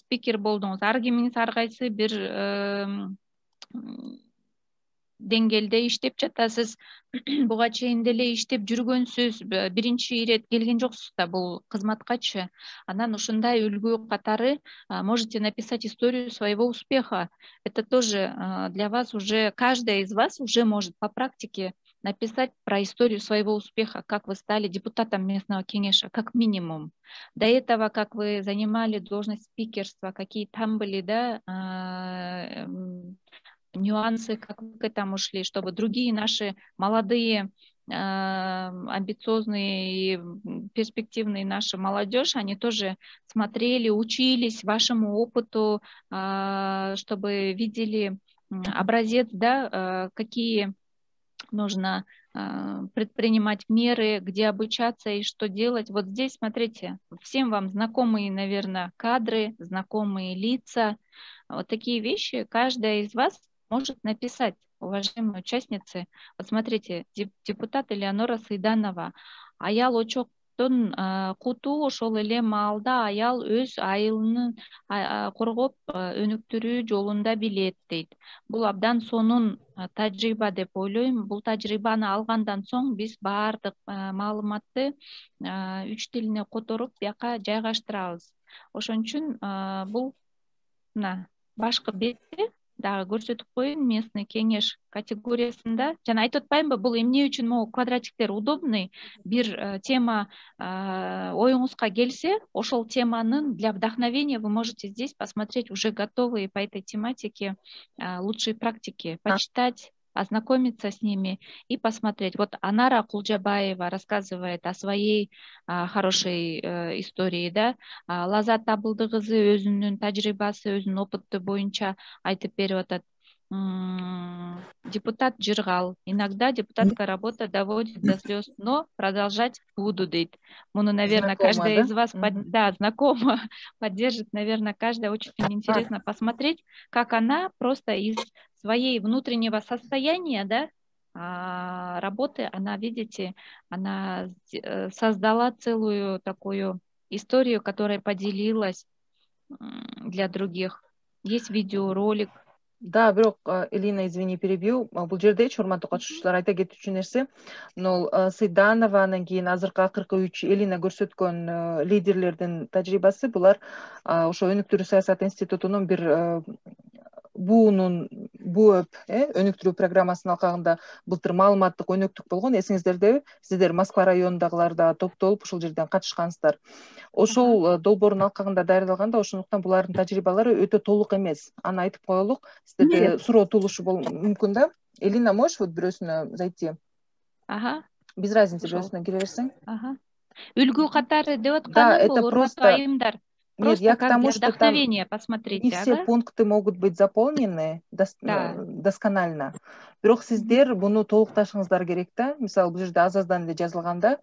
спикер болдуңуз. Ар кимиңиз ар кайсы бир деңгээлде иштеп жатасыз. Буга чейин деле иштеп жүргөнсүз, биринчи ирет келген жоксуз да бул кызматкачы. Анан ушундай үлгү катары можете написать историю своего успеха. Это тоже для вас уже, каждый из вас уже может по практике написать про историю своего успеха, как вы стали депутатом местного кеңеша, как минимум. До этого, как вы занимали должность спикерства, какие там были, да, нюансы, как вы к этому шли, чтобы другие наши молодые, амбициозные и перспективные наши молодежь, они тоже смотрели, учились вашему опыту, чтобы видели образец, да, какие нужно предпринимать меры, где обучаться и что делать. Вот здесь, смотрите, всем вам знакомые, наверное, кадры, знакомые лица. Вот такие вещи каждая из вас может написать, уважаемые участницы. Вот смотрите, депутат Элеонора Сыйданова. Аял очоктун куту ошол эле маалда аял өз айылын коргоп өнүктүрүү жолунда билет дейт. Бул абдан сонун тажрыйба деп ойлойм. Бул тажрыйбаны алгандан соң биз баардык маалыматты 3 тилине которуп бияка жайгаштырабыз. Ошон үчүн бул мына башкы бетте дагы көрсөтүп коеюн, местный кеңеш категориясында. Жана айтып атпаймынбы, бул эмне үчүн могу квадратиктер удобный. Бир тема оюңузга келсе, ошол теманын для вдохновения вы можете здесь посмотреть уже готовые по этой тематике лучшие практики, почитать, ознакомиться с ними и посмотреть. Вот Анара Кулжабаева рассказывает о своей хорошей истории, да. Лазат Абылдыгызы өзүнүн тажрыйбасы, өзүнүн опыты боюнча айтып берип атат. Депутат Жыргал. Иногда депутатская работа доводит до слез, но продолжать буду, дейт. Муну, наверное, каждая из вас, да, знакома, поддержит, наверное, каждая. Очень интересно посмотреть, как она просто из своей внутреннего состояния, да, работы, она, видите, она создала целую такую историю, которая поделилась для других. Есть видеоролик. Да, бирок Элина, извини, перебью. Бул жердечи урматтуу катышуучулар айта кетүүчү нерсе, Сыйданова, анан кийин азыркы акыркы 3 Элина көрсөткөн лидерлердин тажрыйбасы, булар ошо өнүктүрүү саясат институтунун бир БУЭП өнүктүрүү программасынын алкагында былтыр маалыматтык өнөктүк болгон. Эсиңиздердеби? Сиздер Москва районундагылар да топтолуп ушул жерден катышкансыздар. Ошол долбоордун алкагында даярдалганда, ошондуктан булардын тажрыйбалары өтө толук эмес. Аны айтып коелук. Сиздерде суроо туулушу мүмкүн да. Элина, можешь вот бирөөсүнө зайти? Ага. Без разницы, бирөөсүнө кире берсең. Ага. Үлгү катары деп атканым бул, урматтуу айымдар. Нет, я к тому, что вдохновение, посмотрите. Не все пункты могут быть заполнены досконально. Бирок сиздер буну толукташыңыздар керек да. Мисалы, бул жерде аз-аздан эле жазылганда,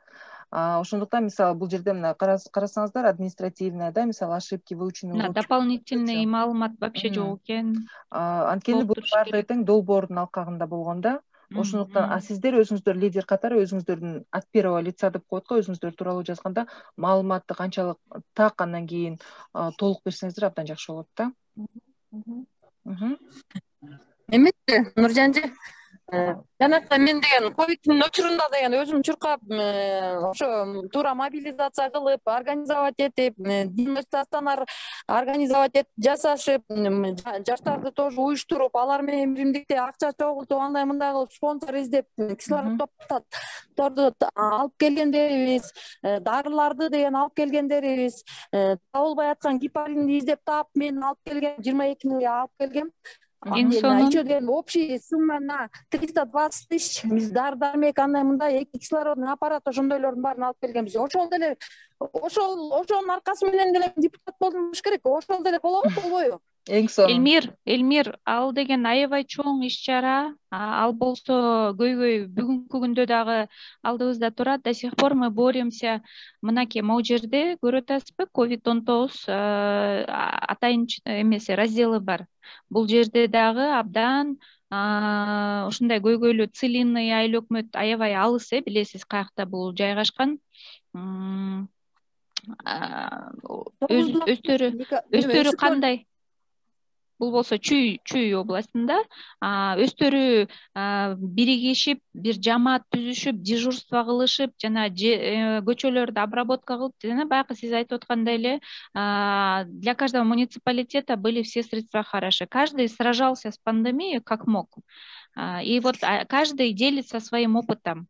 ошондуктан мисалы бул жерде мына карасаңыздар, административная, да, мисалы ошибки выучены. Дополнительный маалымат вообще жок экен. Анткени бул баардыгы тең долбоордун алкагында болгон да. Ошондуктан сиздер өзүңүздөр лидер катары өзүңүздөрдүн от первого лица деп коет го, өзүңүздөр тууралуу жазганда маалыматты канчалык так, андан кийин толук берсеңиздер абдан жакшы болот да. Эметти, Нуржанжы, жанакта мен деген ковидтин учурунда деген өзүм чуркап, ошо туура мобилизация кылып, организовать этип, демонстрациялар организовать жасашып, жаштарды тоже уюштуруп, алар менен биримдикте акча чогултуп, андай мындай кылып спонсор издеп, кислород топторду алып келгендерибиз, дарыларды деген алып келгендерибиз, табылбай аткан гепаринди издеп таап, мен алып келгем, 22 миңге алып келгем. Еще деген общий сумма на 320 тысяч. Биз дары-дармек андай мындай кислородный аппарат ошондойлордун баарын алып келгенбиз. Ошол деле ошонун аркасы менен деле депутат болдум болуш керек. Ошол деле болобу, болбойбу? Эң сонун. Элмир, ал деген аябай чоң иш-чара. Ал болсо көйгөй бүгүнкү күндө дагы алдыбызда турат. До сих пор мы боремся. Мынакей могу жерде көрүп атасызбы? COVID-19 атайын эмеси разделы бар. Бул жерде дагы абдан ушундай көйгөйлүү целинный айыл өкмөт аябай алыс, билесиз каякта бул жайгашкан. Өстөрү кандай? Бул болсо Чүй областында. Өстөрү биригишип, бир жамаат түзүшүп, дежурство кылышып, жана көчөлөрдү обработка кылып, жана баягы сиз айтып аткандай эле, для каждого муниципалитета были все средства хороши. Каждый сражался с пандемией как мог. И вот каждый делится своим опытом.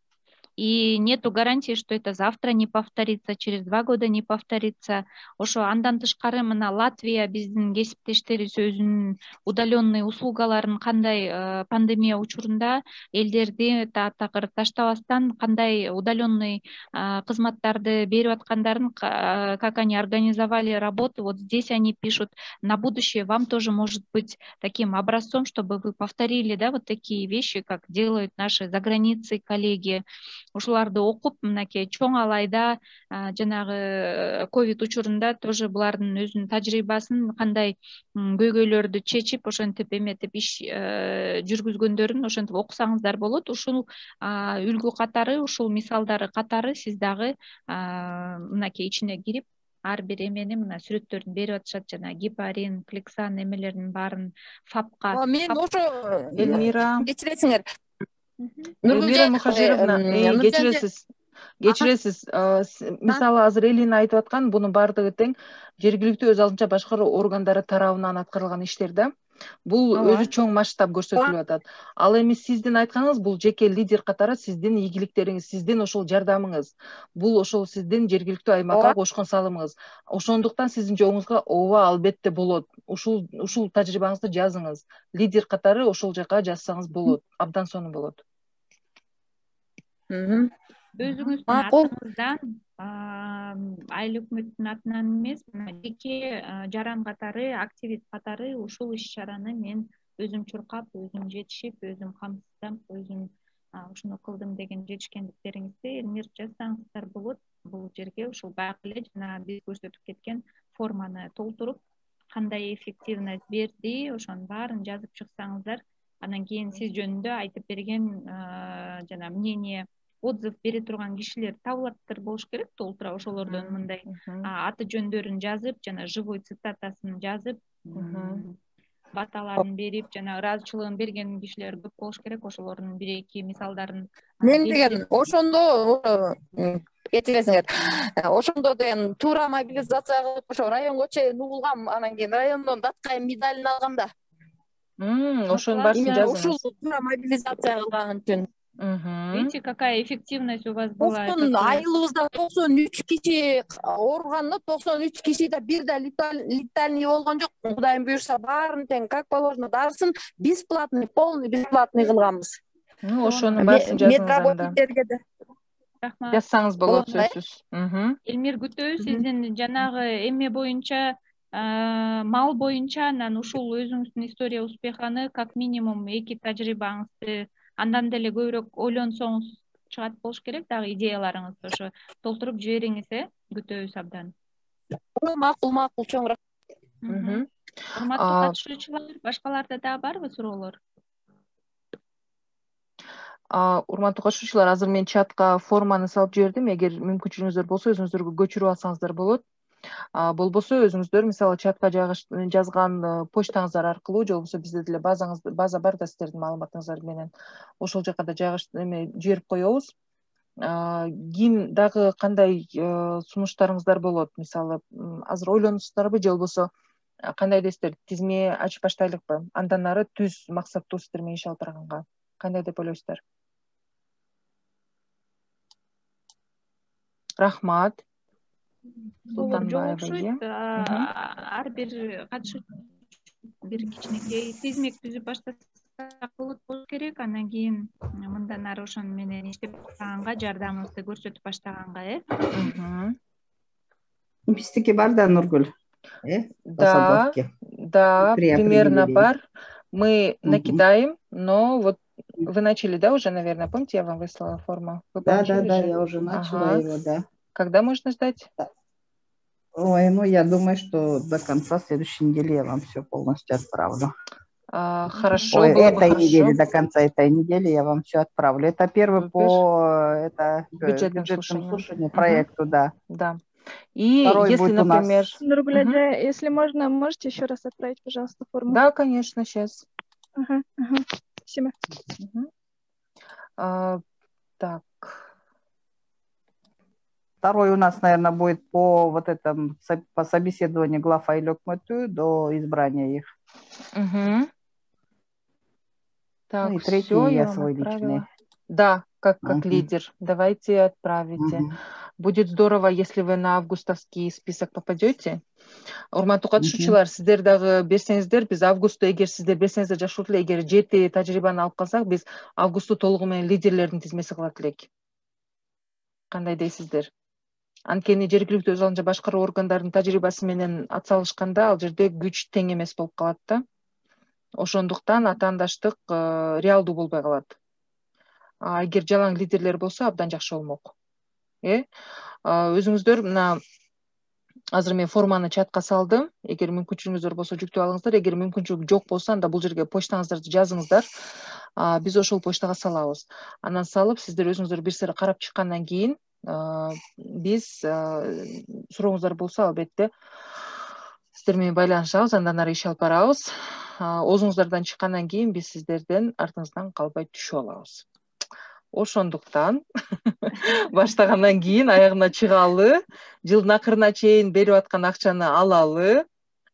И нету гарантии, что это завтра не повторится, через 2 года не повторится. Ошо андан тышкары мына Латвия биздин кесиптештерибиз өзүнүн удаленный услугаларын кандай пандемия учурунда элдерди такыр таштабастан кандай удаленный кызматтарды берип аткандарын, как они организовали работу. Вот здесь они пишут: на будущее вам тоже может быть таким образцом, чтобы вы повторили, да, вот такие вещи, как делают наши за границей коллеги. Ушуларды окуп, мынакей чоң алайда жанагы ковид учурунда тоже булардын өзүнүн тажрыйбасын, кандай көйгөйлөрдү чечип, ошентип эметип иш жүргүзгөндөрүн ошентип окусаңыздар болот. Ушул үлгү катары, ушул мисалдары катары сиз дагы мынакей ичине кирип, ар бир эмени мына сүрөттөрүн берип атышат, жана гепарин, Клексан эмелеринин баарын ФАПка. Мен ошо Элмира, кечиресиңер. Элмира Мухажировна, кечиресиз. Мисалы азыр Элина айтып аткан бунун баардыгы тең жергиликтүү өз алдынча башкаруу органдары тарабынан аткарылган иштер да. Бул өзү чоң масштаб көрсөтүлүп атат. Ал эми сиздин айтканыңыз бул жеке лидер катары сиздин ийгиликтериңиз, сиздин ошол жардамыңыз. Бул ошол сиздин жергиликтүү аймакка кошкон салымыңыз. Ошондуктан сиздин жоңуңузга ооба албетте болот. Ушул тажрыйбаңызды жазыңыз. Лидер катары ошол жака жазсаңыз болот. Абдан сонун болот. Өзүңүздүн атыңыздан айыл өкмөттүн атынан эмес, жеке жаран катары, активист катары ушул иш-чараны мен өзүм чуркап, өзүм жетишип, өзүм камсыздап, өзүм ушуну кылдым деген жетишкендиктериңизди Элмир жазсаңыздар болот. Бул жерге ушул баягы эле жана биз көрсөтүп кеткен форманы толтуруп, кандай эффективность берди, ошонун баарын жазып чыксаңыздар, анан кийин сиз жөнүндө айтып берген жана мнение, отзыв бере турган кишилер табылаттыр болуш керек толтура. Ошолордон мындай аты жөндөрүн жазып, жана живой цитатасын жазып, баталарын берип, жана ыраазычылыгын берген кишилер көп болуш керек. Ошолордун 1-2 мисалдарын мен деген ошондо кетиресиңер. Ошондо деген туура мобилизация кылып, ошо районго чейин угулгам, анан кийин райондон даткайым медалин алгам да. Ошонун баарысын жазыңыз. Ушул туура мобилизация кылган үчүн. Видите, какая эффективность у вас была? Айылыбызда 93 киши ооруганда, 93 кишиде бир да летальный болгон жок. Кудайым буюрса баарын тең как положено дарысын бесплатный, полный бесплатный кылганбыз. Ошонун баарысын жазыңыз. Жазсаңыз болот сөзсүз. Элмир күтөбүз сиздин жанагы эме боюнча, мал боюнча, анан ушул өзүңүздүн история успеханы как минимум 2 тажрыйбаңызды андан деле көбүрөөк ойлонсоңуз чыгат болуш керек, дагы идеяларыңызды ошо толтуруп жибериңиз, күтөбүз абдан. Макул, чоң рахмат. Урматтуу катышуучулар, башкаларда дагы барбы суроолор? Урматтуу катышуучулар, азыр мен чатка форманы салып жибердим. Эгер мүмкүнчүлүгүңүздөр болсо, өзүңүздөргө көчүрүп алсаңыздар болот. Болбосо өзүңүздөр мисалы чатка жазган почтаңыздар аркылуу, же болбосо бизде деле база бар да сиздердин маалыматыңыздар менен, ошол жака да жиберип коебуз. Кийин дагы кандай сунуштарыңыздар болот? Мисалы азыр ойлоносуздарбы, же болбосо кандай десиздер, тизме ачып баштайлыкпы? Андан ары түз максаттуу сиздер менен иш алып барганга кандай деп ойлойсуздар? Рахмат. Жок окшойт. Ар бир катышуучу бир кичинекей тизмек түзүп баштасак болот болуш керек. Андан кийин мындан ары ошону менен иштеп баштаганга, жардамыбызды көрсөтүп баштаганга, Биздики бар да, Нургүл. Да, примерно бар. Мы накидаем, но вот вы начали, да, уже, наверное, помните, я вам выслала форму? Да, я уже начала его, да. Когда можно ждать? Ой, ну я думаю, что до конца следующей недели я вам все полностью отправлю. Хорошо. Ой, этой недели, до конца этой недели я вам все отправлю. Это первый по бюджетному слушанию проекту, да. Да. И второй если, например... Нургуля, если можно, можете еще раз отправить, пожалуйста, форму? Да, конечно, сейчас. Спасибо. Так. Второй у нас, наверное, будет по вот этому, по собеседованию глав Айлёк Мату до избрания их. Так, ну и третий я свой личный. Да, как лидер. Давайте отправите. Будет здорово, если вы на августовский список попадете. Урматтуу катышуучулар, сиздер дагы берсеңиздер, биз августта, эгер сиздер берсеңиздер жакшы болот эле, эгер 7 тажрыйбаны алып калсак, биз августту толугу менен лидерлердин тизмеси кылат элек. Кандай дейсиздер? Анткени жергиликтүү өз алдынча башкаруу органдарынын тажрыйбасы менен атсалышканда ал жерде күч тең эмес болуп калат да. Ошондуктан атаандаштык реалдуу болбой калат. Эгер жалаң лидерлер болсо абдан жакшы болмок. Өзүңүздөр мына азыр мен форманы чатка салдым. Эгер мүмкүнчүлүгүңүздөр болсо жүктөп алыңыздар. Эгер мүмкүнчүлүк жок болсо, анда бул жерге почтаңыздарды жазыңыздар. Биз ошол почтага салабыз. Анан салып, сиздер өзүңүздөр бир сыйра карап чыккандан кийин биз сурооңуздар болсо, албетте сиздер менен байланышабыз, андан ары иш алып барабыз. Оозуңуздардан чыккандан кийин биз сиздерден артыңыздан калбай түшүп алабыз. Ошондуктан баштагандан кийин аягына чыгалы, жылдын акырына чейин берип аткан акчаны алалы,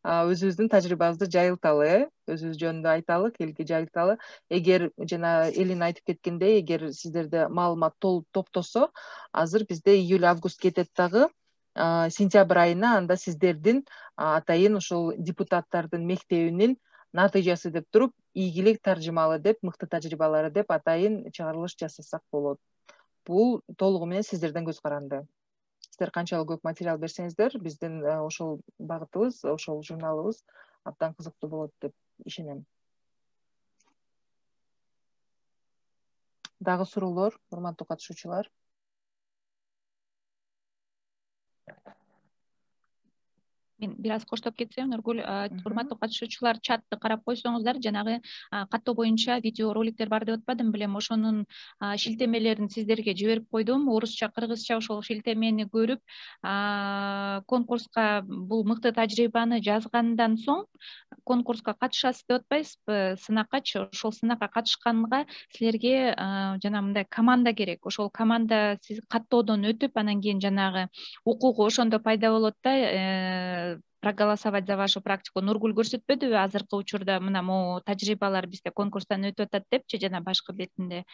өзүбүздүн тажрыйбабызды жайылталы, өзүбүз жөнүндө айталы, элге жайылталы. Эгер жана Элин айтып кеткендей, эгер сиздерде маалымат топтосо, азыр бизде июль-август кетет дагы. Сентябрь айына анда сиздердин атайын ошол депутаттардын мектебинин натыйжасы деп туруп, ийгилик таржымалы деп, мыкты тажрыйбалары деп атайын чыгарылыш жасасак болот. Бул толугу менен сиздерден көз каранды. Сиздер канчалык көп материал берсеңиздер, биздин ошол багытыбыз, ошол журналыбыз абдан кызыктуу болот деп ишенем. Дагы суроолор, урматтуу катышуучулар? Мен бир аз коштоп кетсем, Нургүл, урматтуу катышуучулар, чатты карап койсоңуздар, жанагы каттоо боюнча видео роликтер бар деп атпадым белем, ошонун шилтемелерин сиздерге жиберип койдум. Орусча, кыргызча ошол шилтемени көрүп, конкурска бул мыкты тажрыйбаны жазгандан соң конкурска катышасыз деп атпайсызбы, сынаккачы. Ошол сынакка катышканга силерге жана мындай команда керек. Ошол команда сиз каттоодон өтүп, анан кийин жанагы укугу ошондо пайда болот да, проголосовать за вашу практику. Нургүл көрсөтпөдүбү азыркы учурда мына могу тажрыйбалар бизде конкурстан өтүп атат депчи, жана башкы бетинде.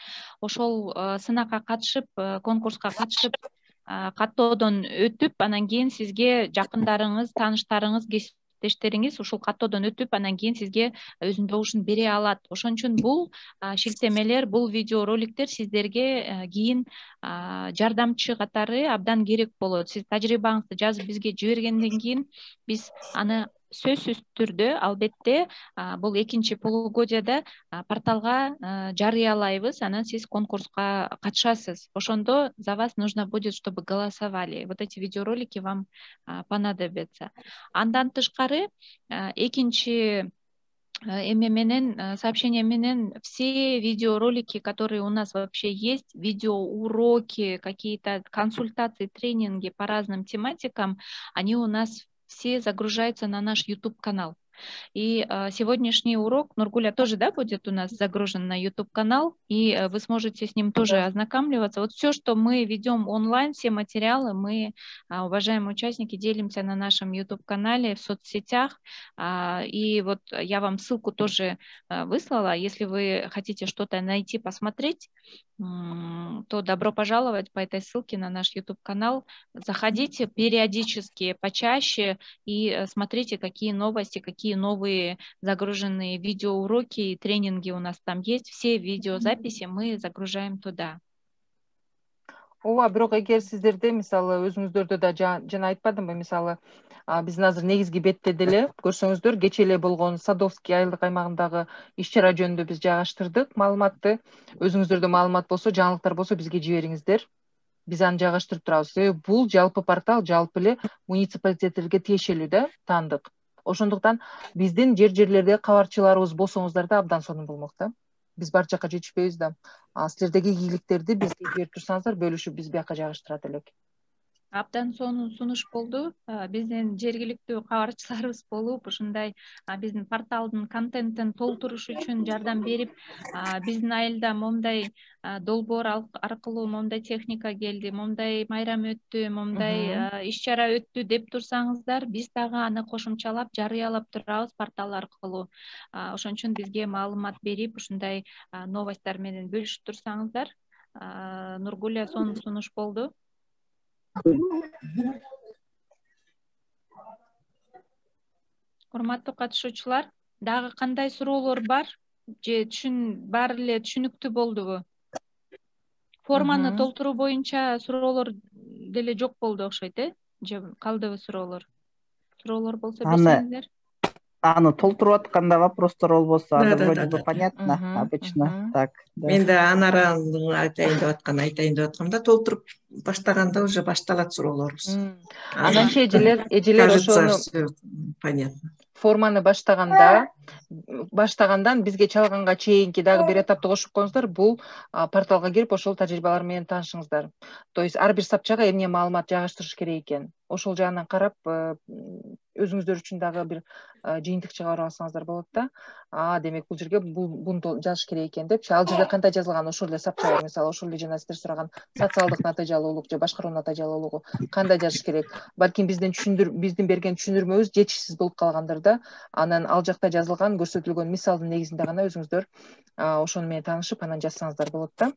Ошол сынакка катышып, конкурска катышып, каттоодон өтүп, анан кийин сизге жакындарыңыз, тааныштарыңыз, кесиптештериңиз ушул каттоодон өтүп, анан кийин сизге өзүнүн добушун бере алат. Ошон үчүн бул шилтемелер, бул видеороликтер сиздерге кийин жардамчы катары абдан керек болот. Сиз тажрыйбаңызды жазып бизге жибергенден кийин биз аны сөзсүз түрдө, албетте, бул экинчи полугодияда порталга жарыялайбыз, анан сиз конкурска катышасыз. Ошондо за вас нужно будет, чтобы голосовали. Вот эти видеоролики вам понадобятся. Андан тышкары экинчи эме менен, сообщение менен, все видеоролики, которые у нас вообще есть, видеоуроки, какие-то консультации, тренинги по разным тематикам, они у нас все загружаются на наш YouTube-канал. И сегодняшний урок, Нургуля, тоже, да, будет у нас загружен на YouTube-канал, и вы сможете с ним тоже ознакомливаться. Вот все, что мы ведем онлайн, все материалы, мы, уважаемые участники, делимся на нашем YouTube-канале, в соцсетях. И вот я вам ссылку тоже выслала. Если вы хотите что-то найти, посмотреть, то добро пожаловать по этой ссылке на наш YouTube-канал. Заходите периодически, почаще и смотрите, какие новости, какие новые загруженные видеоуроки и тренинги у нас там есть. Все видеозаписи мы загружаем туда. Ооба, бирок эгер сиздерде мисалы өзүңүздөрдө да жана айтпадымбы, мисалы биздин азыр негизги бетте деле көрсөңүздөр, кечээ эле болгон Садовский айылдык аймагындагы иш-чара жөнүндө биз жайгаштырдык маалыматты. Өзүңүздөрдө маалымат болсо, жаңылыктар болсо бизге жибериңиздер. Биз аны жайгаштырып турабыз. Себеби бул жалпы портал жалпы эле муниципалитеттерге тиешелүү да, таандык. Ошондуктан биздин жерлерде кабарчыларыбыз болсоңуздар да абдан сонун болмок да. Биз бар жака жетишпейбиз да. Силердеги ийгиликтерди бизге жиберип турсаңыздар, бөлүшүп биз бияка жайгаштырат элек. Абдан сонун сунуш болду. Биздин жергиликтүү кабарчыларыбыз болуп, ушундай биздин порталдын контентин толтуруш үчүн жардам берип, биздин айылда момундай долбоор аркылуу момундай техника келди, момундай майрам өттү, момундай иш-чара өттү деп турсаңыздар, биз дагы аны кошумчалап, жарыялап турабыз портал аркылуу. Ошон үчүн бизге маалымат берип, ушундай новосттар менен бөлүшүп турсаңыздар. Нургуля, сонун сунуш болду. Урматтуу катышуучулар, дагы кандай суроолор бар? Же баары эле түшүнүктүү болдубу? Форманы толтуруу боюнча суроолор деле жок болду окшойт, Же калдыбы суроолор? Суроолор болсо берсеңиздер. Аны толтуруп атканда вопростор болбосо, вроде бы понятно, обычно. Так. Мен да Анараны айтайын деп аткам да, толтуруп баштаганда уже башталат суроолорубуз. Ананча эжелер ошону понятно. Форманы баштагандан бизге чалганга чейинки дагы бир этапты кошуп коюңуздар. Бул порталга кирип, ошол тажрыйбалар менен таанышыңыздар. То есть ар бир сапчага эмне маалымат жайгаштырыш керек экен. Ошол жагынан карап, өзүңүздөр үчүн дагы бир жыйынтык чыгарып алсаңыздар болот да. Демек бул жерге буну жазыш керек экен депчи. Ал жерде кандай жазылган, ошол эле сапчага, мисалы ошол эле жана сиздер сураган социалдык натыйжалуулук же башкаруу натыйжалуулугу кандай жазыш керек. Балким биздин берген түшүндүрмөбүз жетишсиз болуп калгандыр да. Анан ал жакта жазылган, көрсөтүлгөн мисалдын негизинде гана өзүңүздөр ошону менен таанышып, анан жазсаңыздар болот да.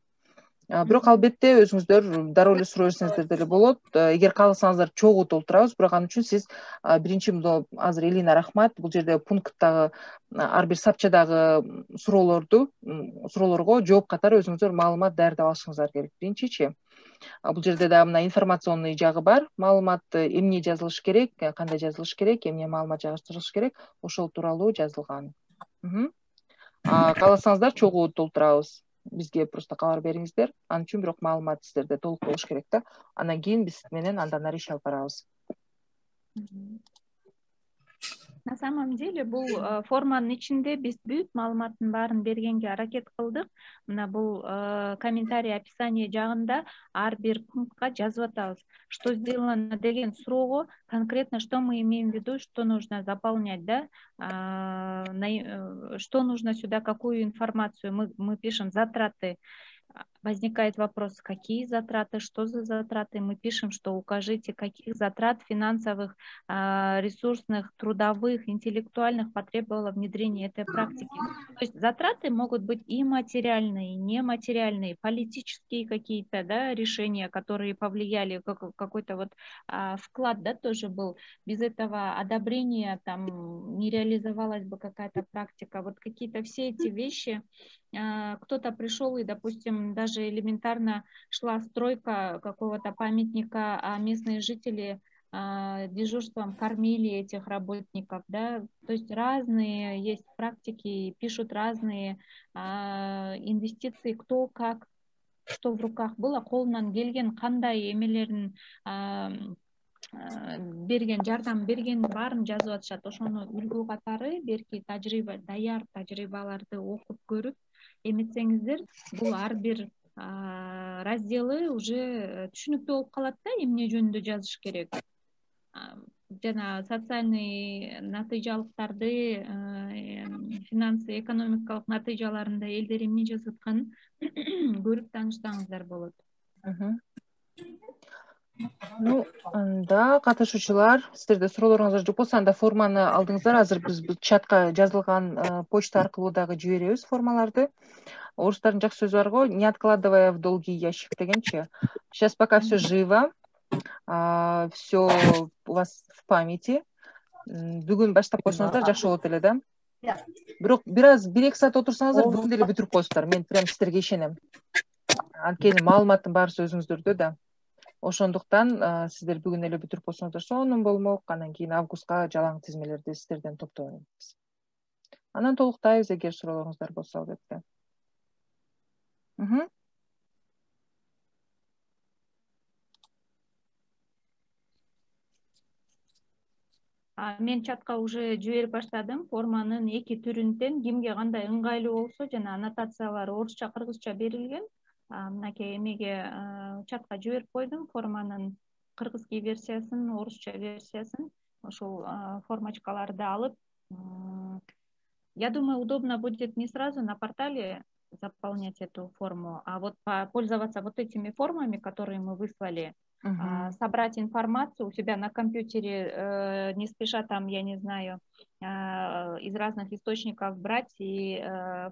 Бирок албетте өзүңүздөр дароо эле суроо берсеңиздер деле болот. Эгер кааласаңыздар чогуу толтурабыз, бирок ал үчүн сиз биринчи азыр Элина рахмат, бул жерде пункттагы ар бир сапчадагы суроолорго жооп катары өзүңүздөр маалымат даярдап алышыңыздар керек. Биринчичи, бул жерде дагы мына информационный жагы бар. Маалымат эмне жазылыш керек, кандай жазылыш керек, эмне маалымат жайгаштырылыш керек, ошол тууралуу жазылган. Кааласаңыздар чогуу толтурабыз. Бизге просто кабар бериңиздер. Ал үчүн бирок маалымат сиздерде толук болуш керек да. Андан кийин биз менен андан ары иш алып барабыз. На самом деле бул форманын ичинде биз бүт маалыматтын баарын бергенге аракет кылдык. Мына бул комментарий описание жагында ар бир пунктка жазып атабыз. Что сделано деген суроого конкретно что мы имеем в виду, что нужно заполнять, да? Что нужно сюда, какую информацию мы пишем, затраты. Возникает вопрос, какие затраты, что за затраты. Мы пишем, что укажите, каких затрат финансовых, ресурсных, трудовых, интеллектуальных потребовало внедрение этой практики. То есть затраты могут быть и материальные, и нематериальные, политические какие-то, да, решения, которые повлияли, какой-то вот вклад, да, тоже был. Без этого одобрения там не реализовалась бы какая-то практика. Вот какие-то все эти вещи. Кто-то пришел и, допустим, даже элементарно шла стройка какого-то памятника, а местные жители дежурством кормили этих работников, да, то есть разные есть практики, пишут разные инвестиции, кто как, что в руках было, колунан келген кандай эмелерин берген, жардам берген баарын жазып атышат. Ошону үлгү катары берки даяр тажрыйбаларды окуп көрүп эметсеңиздер, бул ар бир разделы уже түшүнүктүү болуп калат да, эмне жөнүндө жазыш керек. Жана социальный натыйжалыктарды, финансы, экономикалык натыйжаларында элдер эмне жазып атканын көрүп таанышсаңыздар болот. Анда катышуучулар, сиздерде суроолоруңуздар жок болсо, анда форманы алдыңыздар. Азыр биз чатка жазылган почта аркылуу дагы жиберебиз формаларды. орустардын жакшы сөзү бар го, не откладывая в долгий ящик дегенчи. Сейчас пока все живо, все у вас в памяти. Бүгүн баштап койсоңуздар жакшы болот эле да. Бирок бир аз 1-2 саат отурсаңыздар бүгүн деле бүтүрүп коесуздар. Мен прям силерге ишенем. Анткени маалыматтын баарысы өзүңүздөрдө да. Ошондуктан сиздер бүгүн эле бүтүрүп койсоңуздар сонун болмок. Анан кийин августка жалаң тизмелерди сиздерден топтойбуз. Анан толуктайбыз эгер суроолоруңуздар болсо албетте. Мен чатка уже жиберип баштадым. Форманын 2 түрүнөн кимге кандай ыңгайлуу болсо жана аннотациялары орусча, кыргызча берилген. Мынакей эмеге чатка жиберип койдум. Форманын кыргызский версиясын, орусча версиясын. Ошол формочкаларды алып, я думаю, удобно будет не сразу на портале заполнять эту форму, а вот пользоваться вот этими формами, которые мы выслали, собрать информацию у себя на компьютере, не спеша там, я не знаю, из разных источников брать и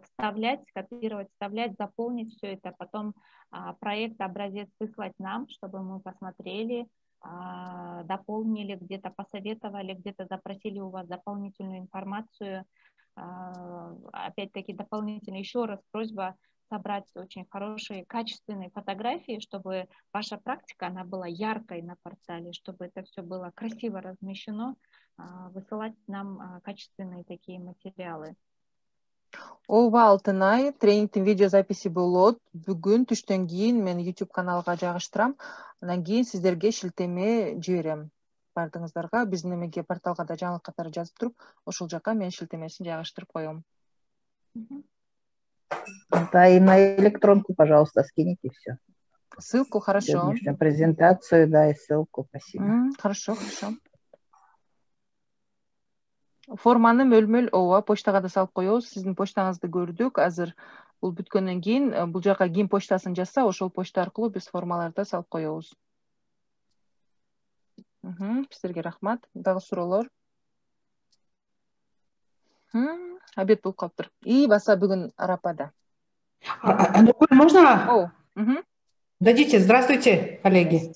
вставлять, копировать, вставлять, заполнить все это, потом проект, образец выслать нам, чтобы мы посмотрели, дополнили, где-то посоветовали, где-то запросили у вас дополнительную информацию. Опять-таки дополнительно еще раз просьба собрать очень хорошие, качественные фотографии, чтобы ваша практика, она была яркой на портале, чтобы это все было красиво размещено, высылать нам качественные такие материалы. Ооба, Алтынай, тренингтин видеозаписи болот. Бүгүн түштөн кийин мен YouTube каналга жайгаштырам. Анан кийин сиздерге шилтеме жиберем. Бардыңыздарга биздин эмеге порталга да жаңылык катары жазып туруп, ошол жака мен шилтемесин жайгаштырып коем. Да, и на электронку, пожалуйста, скините все. Ссылку, хорошо. Презентацию, да, и ссылку, спасибо. Хорошо, хорошо. Форманы мөлмөл ооба почтага да салып коебуз. Сиздин почтаңызды көрдүк. Азыр бул бүткөндөн кийин бул жака ким почтасын жазса, ошол почта аркылуу биз формаларды салып коебуз. Сиздерге рахмат. Дагы суроолор? Обед болуп калыптыр. И баса бүгүн арапада. Можно? Дадите. Здравствуйте, коллеги.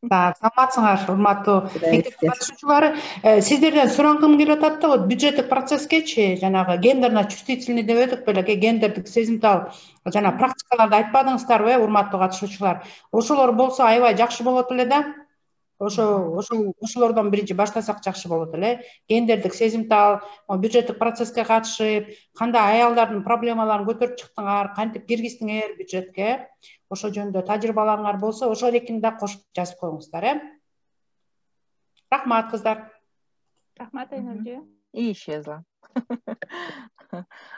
Так, саламатсыңар, урматтуу мектеп катышуучулары. Сиздерден сураткым келип атат да, вот бюджеттик процесске жанагы гендерно чувствительный деп өтүк беле, гендердик сезимтал жана практикаларды айтпадыңыздарбы, урматтуу катышуучулар? Ошолор болсо аябай жакшы болот эле да. Ошолордон биринчи баштасак жакшы болот эле. Гендердик сезимтал бюджеттик процесске катышып, кандай аялдардын проблемаларын көтөрүп чыктыңар, кантип киргиздиңер бюджетке? Ошол жөнүндө тажрыйбаларыңар болсо, ошол экини да кошуп жазып коюңуздар, Рахмат, кыздар. Рахмат, Айнуржи. Исчезла.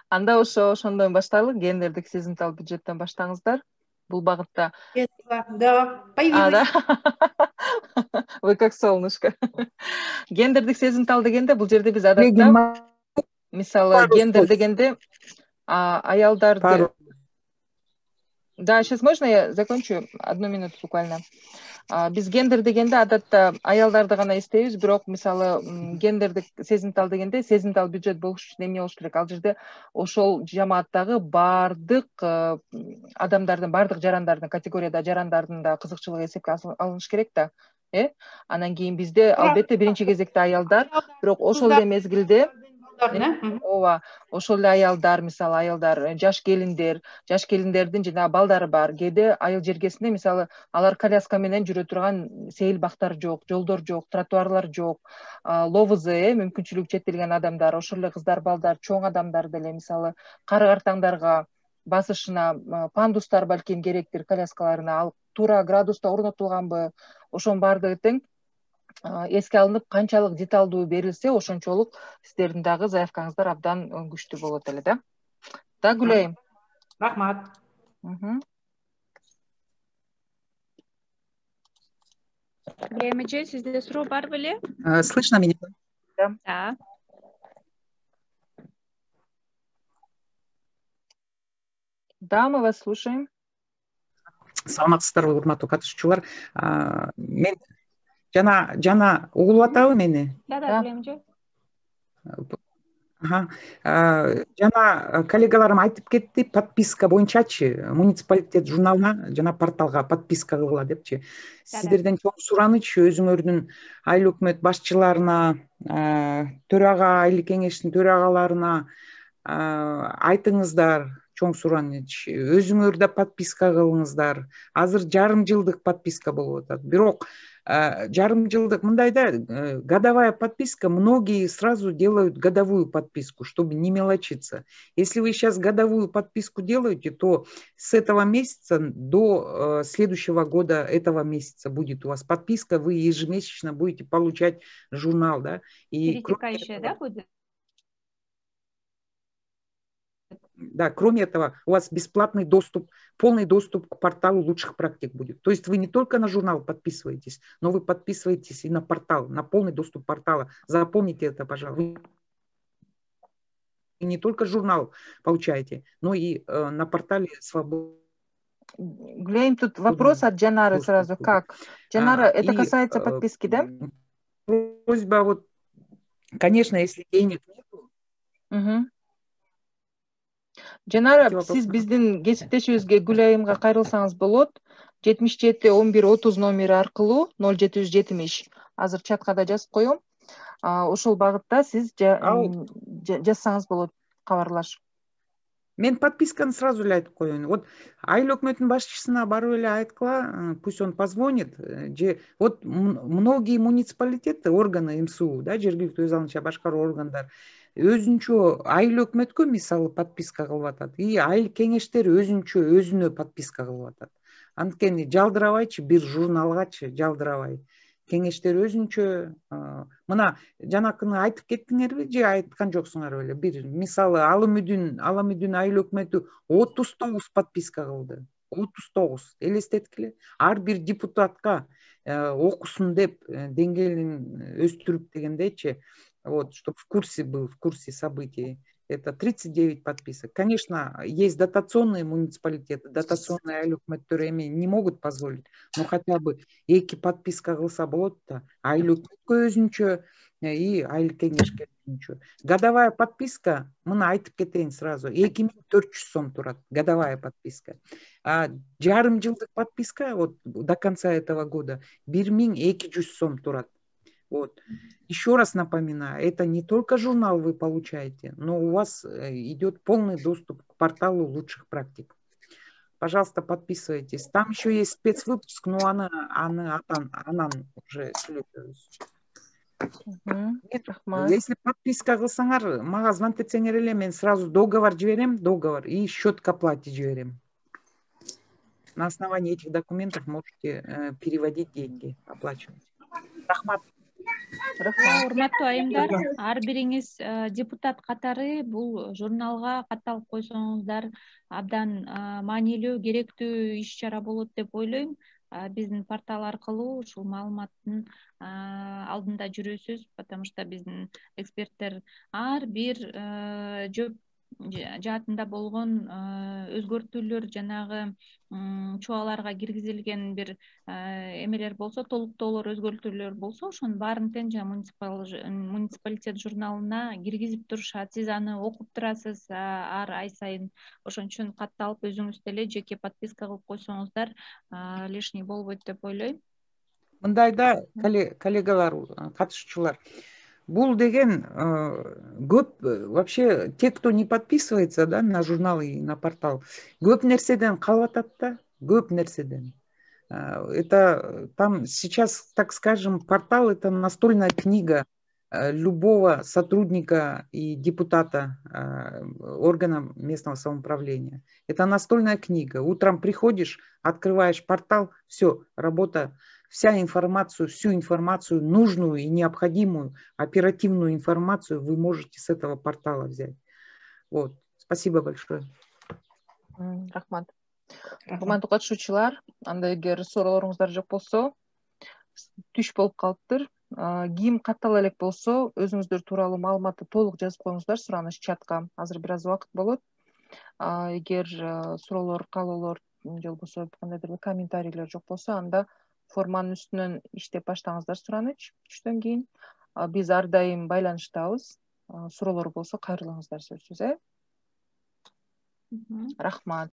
Анда ошондон баштайлы, гендердик сезимтал бюджеттен баштаңыздар. Бул багытта. Да, появилась. Вы как солнышко. Гендердик сезимтал дегенде бул жерде биз адатта, мисалы, гендер дегенде аялдарды. Да, сейчас можно я закончу? 1 минуту буквально. Биз гендер дегенде адатта аялдарды гана эстейбиз, бирок мисалы гендердик сезимтал дегенде сезимтал бюджет болуш үчүн эмне болуш керек? Ал жерде ошол жамааттагы бардык адамдардын, бардык жарандардын, категорияда жарандардын да кызыкчылыгы эсепке алыныш керек да. Анан кийин бизде албетте биринчи кезекте аялдар, бирок ошол эле мезгилде ооба, ошол эле аялдар, мисалы аялдар, жаш келиндердин жана балдары бар. Кээде айыл жергесинде мисалы алар коляска менен жүрө турган сейил бактар жок, жолдор жок, тротуарлар жок, ловызы, мүмкүнчүлүгү чектелген адамдар, ошол эле кыздар, балдар, чоң адамдар деле мисалы кары картаңдарга басышына пандустар балким керектир, коляскаларына ал туура градуста орнотулганбы, ошонун баардыгы тең эске алынып, канчалык деталдуу берилсе, ошончолук сиздердин дагы заявкаңыздар абдан күчтүү болот эле да. Да, Гүлайым. Рахмат. Гүлайым эже, сизде суроо бар беле? Слышно меня? Да. Да, мы вас слушаем. Саламатсыздарбы, урматтуу катышуучулар. Мен жана угулуп атабы мени? Да, Гүлайым эже. Жана коллегаларым айтып кетти, подписка боюнчачы муниципалитет журналына жана порталга подписка кылгыла депчи. Сиздерден чоң сураныч өзүңөрдүн айыл өкмөт башчыларына, төрага, айыл кеңештин төрагаларына айтыңыздар, чоң сураныч. Өзүңөр да подписка кылыңыздар. Азыр жарым жылдык подписка болуп атат. Бирок жарым жылдык мындай да годовая подписка, многие сразу делают годовую подписку, чтобы не мелочиться. Если вы сейчас годовую подписку делаете, то с этого месяца до следующего года этого месяца будет у вас подписка, вы ежемесячно будете получать журнал, да? И пересекающая, да, будет? Да, кроме этого, у вас бесплатный доступ, полный доступ к порталу лучших практик будет. То есть вы не только на журнал подписываетесь, но вы подписываетесь и на портал, на полный доступ портала. Запомните это, пожалуйста. Вы не только журнал получаете, но и на портале свободы. Глянь, тут вопрос от Джанары сразу. Как? Джанара, это касается подписки, да? Просьба вот, конечно, если денег нет. Жанара, сиз биздин кесиптешибизге Гүлайымга кайрылсаңыз болот. 77-11-30 номери аркылуу 0770. Азыр чатка да жазып коем. Ошол багытта сиз жазсаңыз болот кабарлашып. Мен подписканы сразу эле айтып коеюн. Вот айыл өкмөтүнүн башчысына барып эле айткыла, пусть он позвонит. Вот многие муниципалитеты, органы МСУ, да, жергиликтүү өз алдынча башкаруу органдар өзүнчө айыл өкмөткө мисалы подписка кылып атат. И айыл кеңештер өзүнчө өзүнө подписка кылып атат. Анткени жалдырабайчы бир журналгачы жалдырабай. Кеңештер өзүнчө мына жанакыны айтып кеттиңерби же айткан жоксуңар беле? Бир мисалы Аламүдүн айыл өкмөтү 39 подписка кылды. 39 элестеткиле. Ар бир депутатка окусун деп деңгээлин өстүрүп дегендейчи. Вот, чтобы в курсе был, в курсе событий. Это 39 подписок. Конечно, есть дотационные муниципалитеты, дотационные айыл өкмөттөр эми не могут позволить, но хотя бы 2 подписка кылса болот да. Айыл өкмөткө өзүнчө и айыл кеңешке өзүнчө. Годовая подписка, мына айтып кетейин сразу, 2400 сом турат, годовая подписка. А жарым жылдык подписка вот до конца этого года 1200 сом турат. Вот. Еще раз напоминаю, это не только журнал вы получаете, но у вас идет полный доступ к порталу лучших практик. Пожалуйста, подписывайтесь. Там еще есть спецвыпуск, но анан уже если подписка кылсаңар, мага звонтетсеңер эле, мен сразу договор жиберем, договор и счет к оплате жиберем. На основании этих документов можете переводить деньги, оплачивать. Рахмат. Урматтуу айымдар, ар бириңиз депутат катары бул журналга катталып койсоңуздар абдан маанилүү, керектүү иш чара болот деп ойлойм. Биздин портал аркылуу ушул маалыматтын алдында жүрөсүз, потому что биздин эксперттер ар бир жооп жаатында болгон өзгөртүүлөр, жанагы чубаларга киргизилген бир эмелер болсо, толуктоолор, өзгөртүүлөр болсо, ошонун баарын тең жана муниципалитет журналына киргизип турушат. Сиз аны окуп турасыз ар ай сайын. Ошон үчүн катталып өзүңүз деле жеке подписка кылып койсоңуздар лишний болбойт деп ойлойм. Мындайда коллегалар, катышуучулар, бул деген көп вообще те, кто не подписывается, да, на журнал и на портал, көп нерседен калып атат да, көп нерседен. Это там сейчас, так скажем, портал — это настольная книга любого сотрудника и депутата органа местного самоуправления. Это настольная книга. Утром приходишь, открываешь портал, все, работа, всю информацию, нужную и необходимую, оперативную информацию вы можете с этого портала взять. Вот. Спасибо большое. Рахмат. Урматтуу катышуучулар, анда эгер суроолоруңуздар жок болсо, түш болуп калыптыр. Ким каттала элек болсо, өзүңүздөр тууралуу маалыматты толук жазып коюңуздар сураныч чатка. Азыр бир аз убакыт болот. Эгер суроолор, каалоолор же болбосо кандайдыр бир комментарийлер жок болсо, анда форманын үстүнөн иштеп баштаңыздар сураныч түштөн кийин. Биз ар дайым байланыштабыз. суроолор болсо кайрылыңыздар сөзсүз. Рахмат.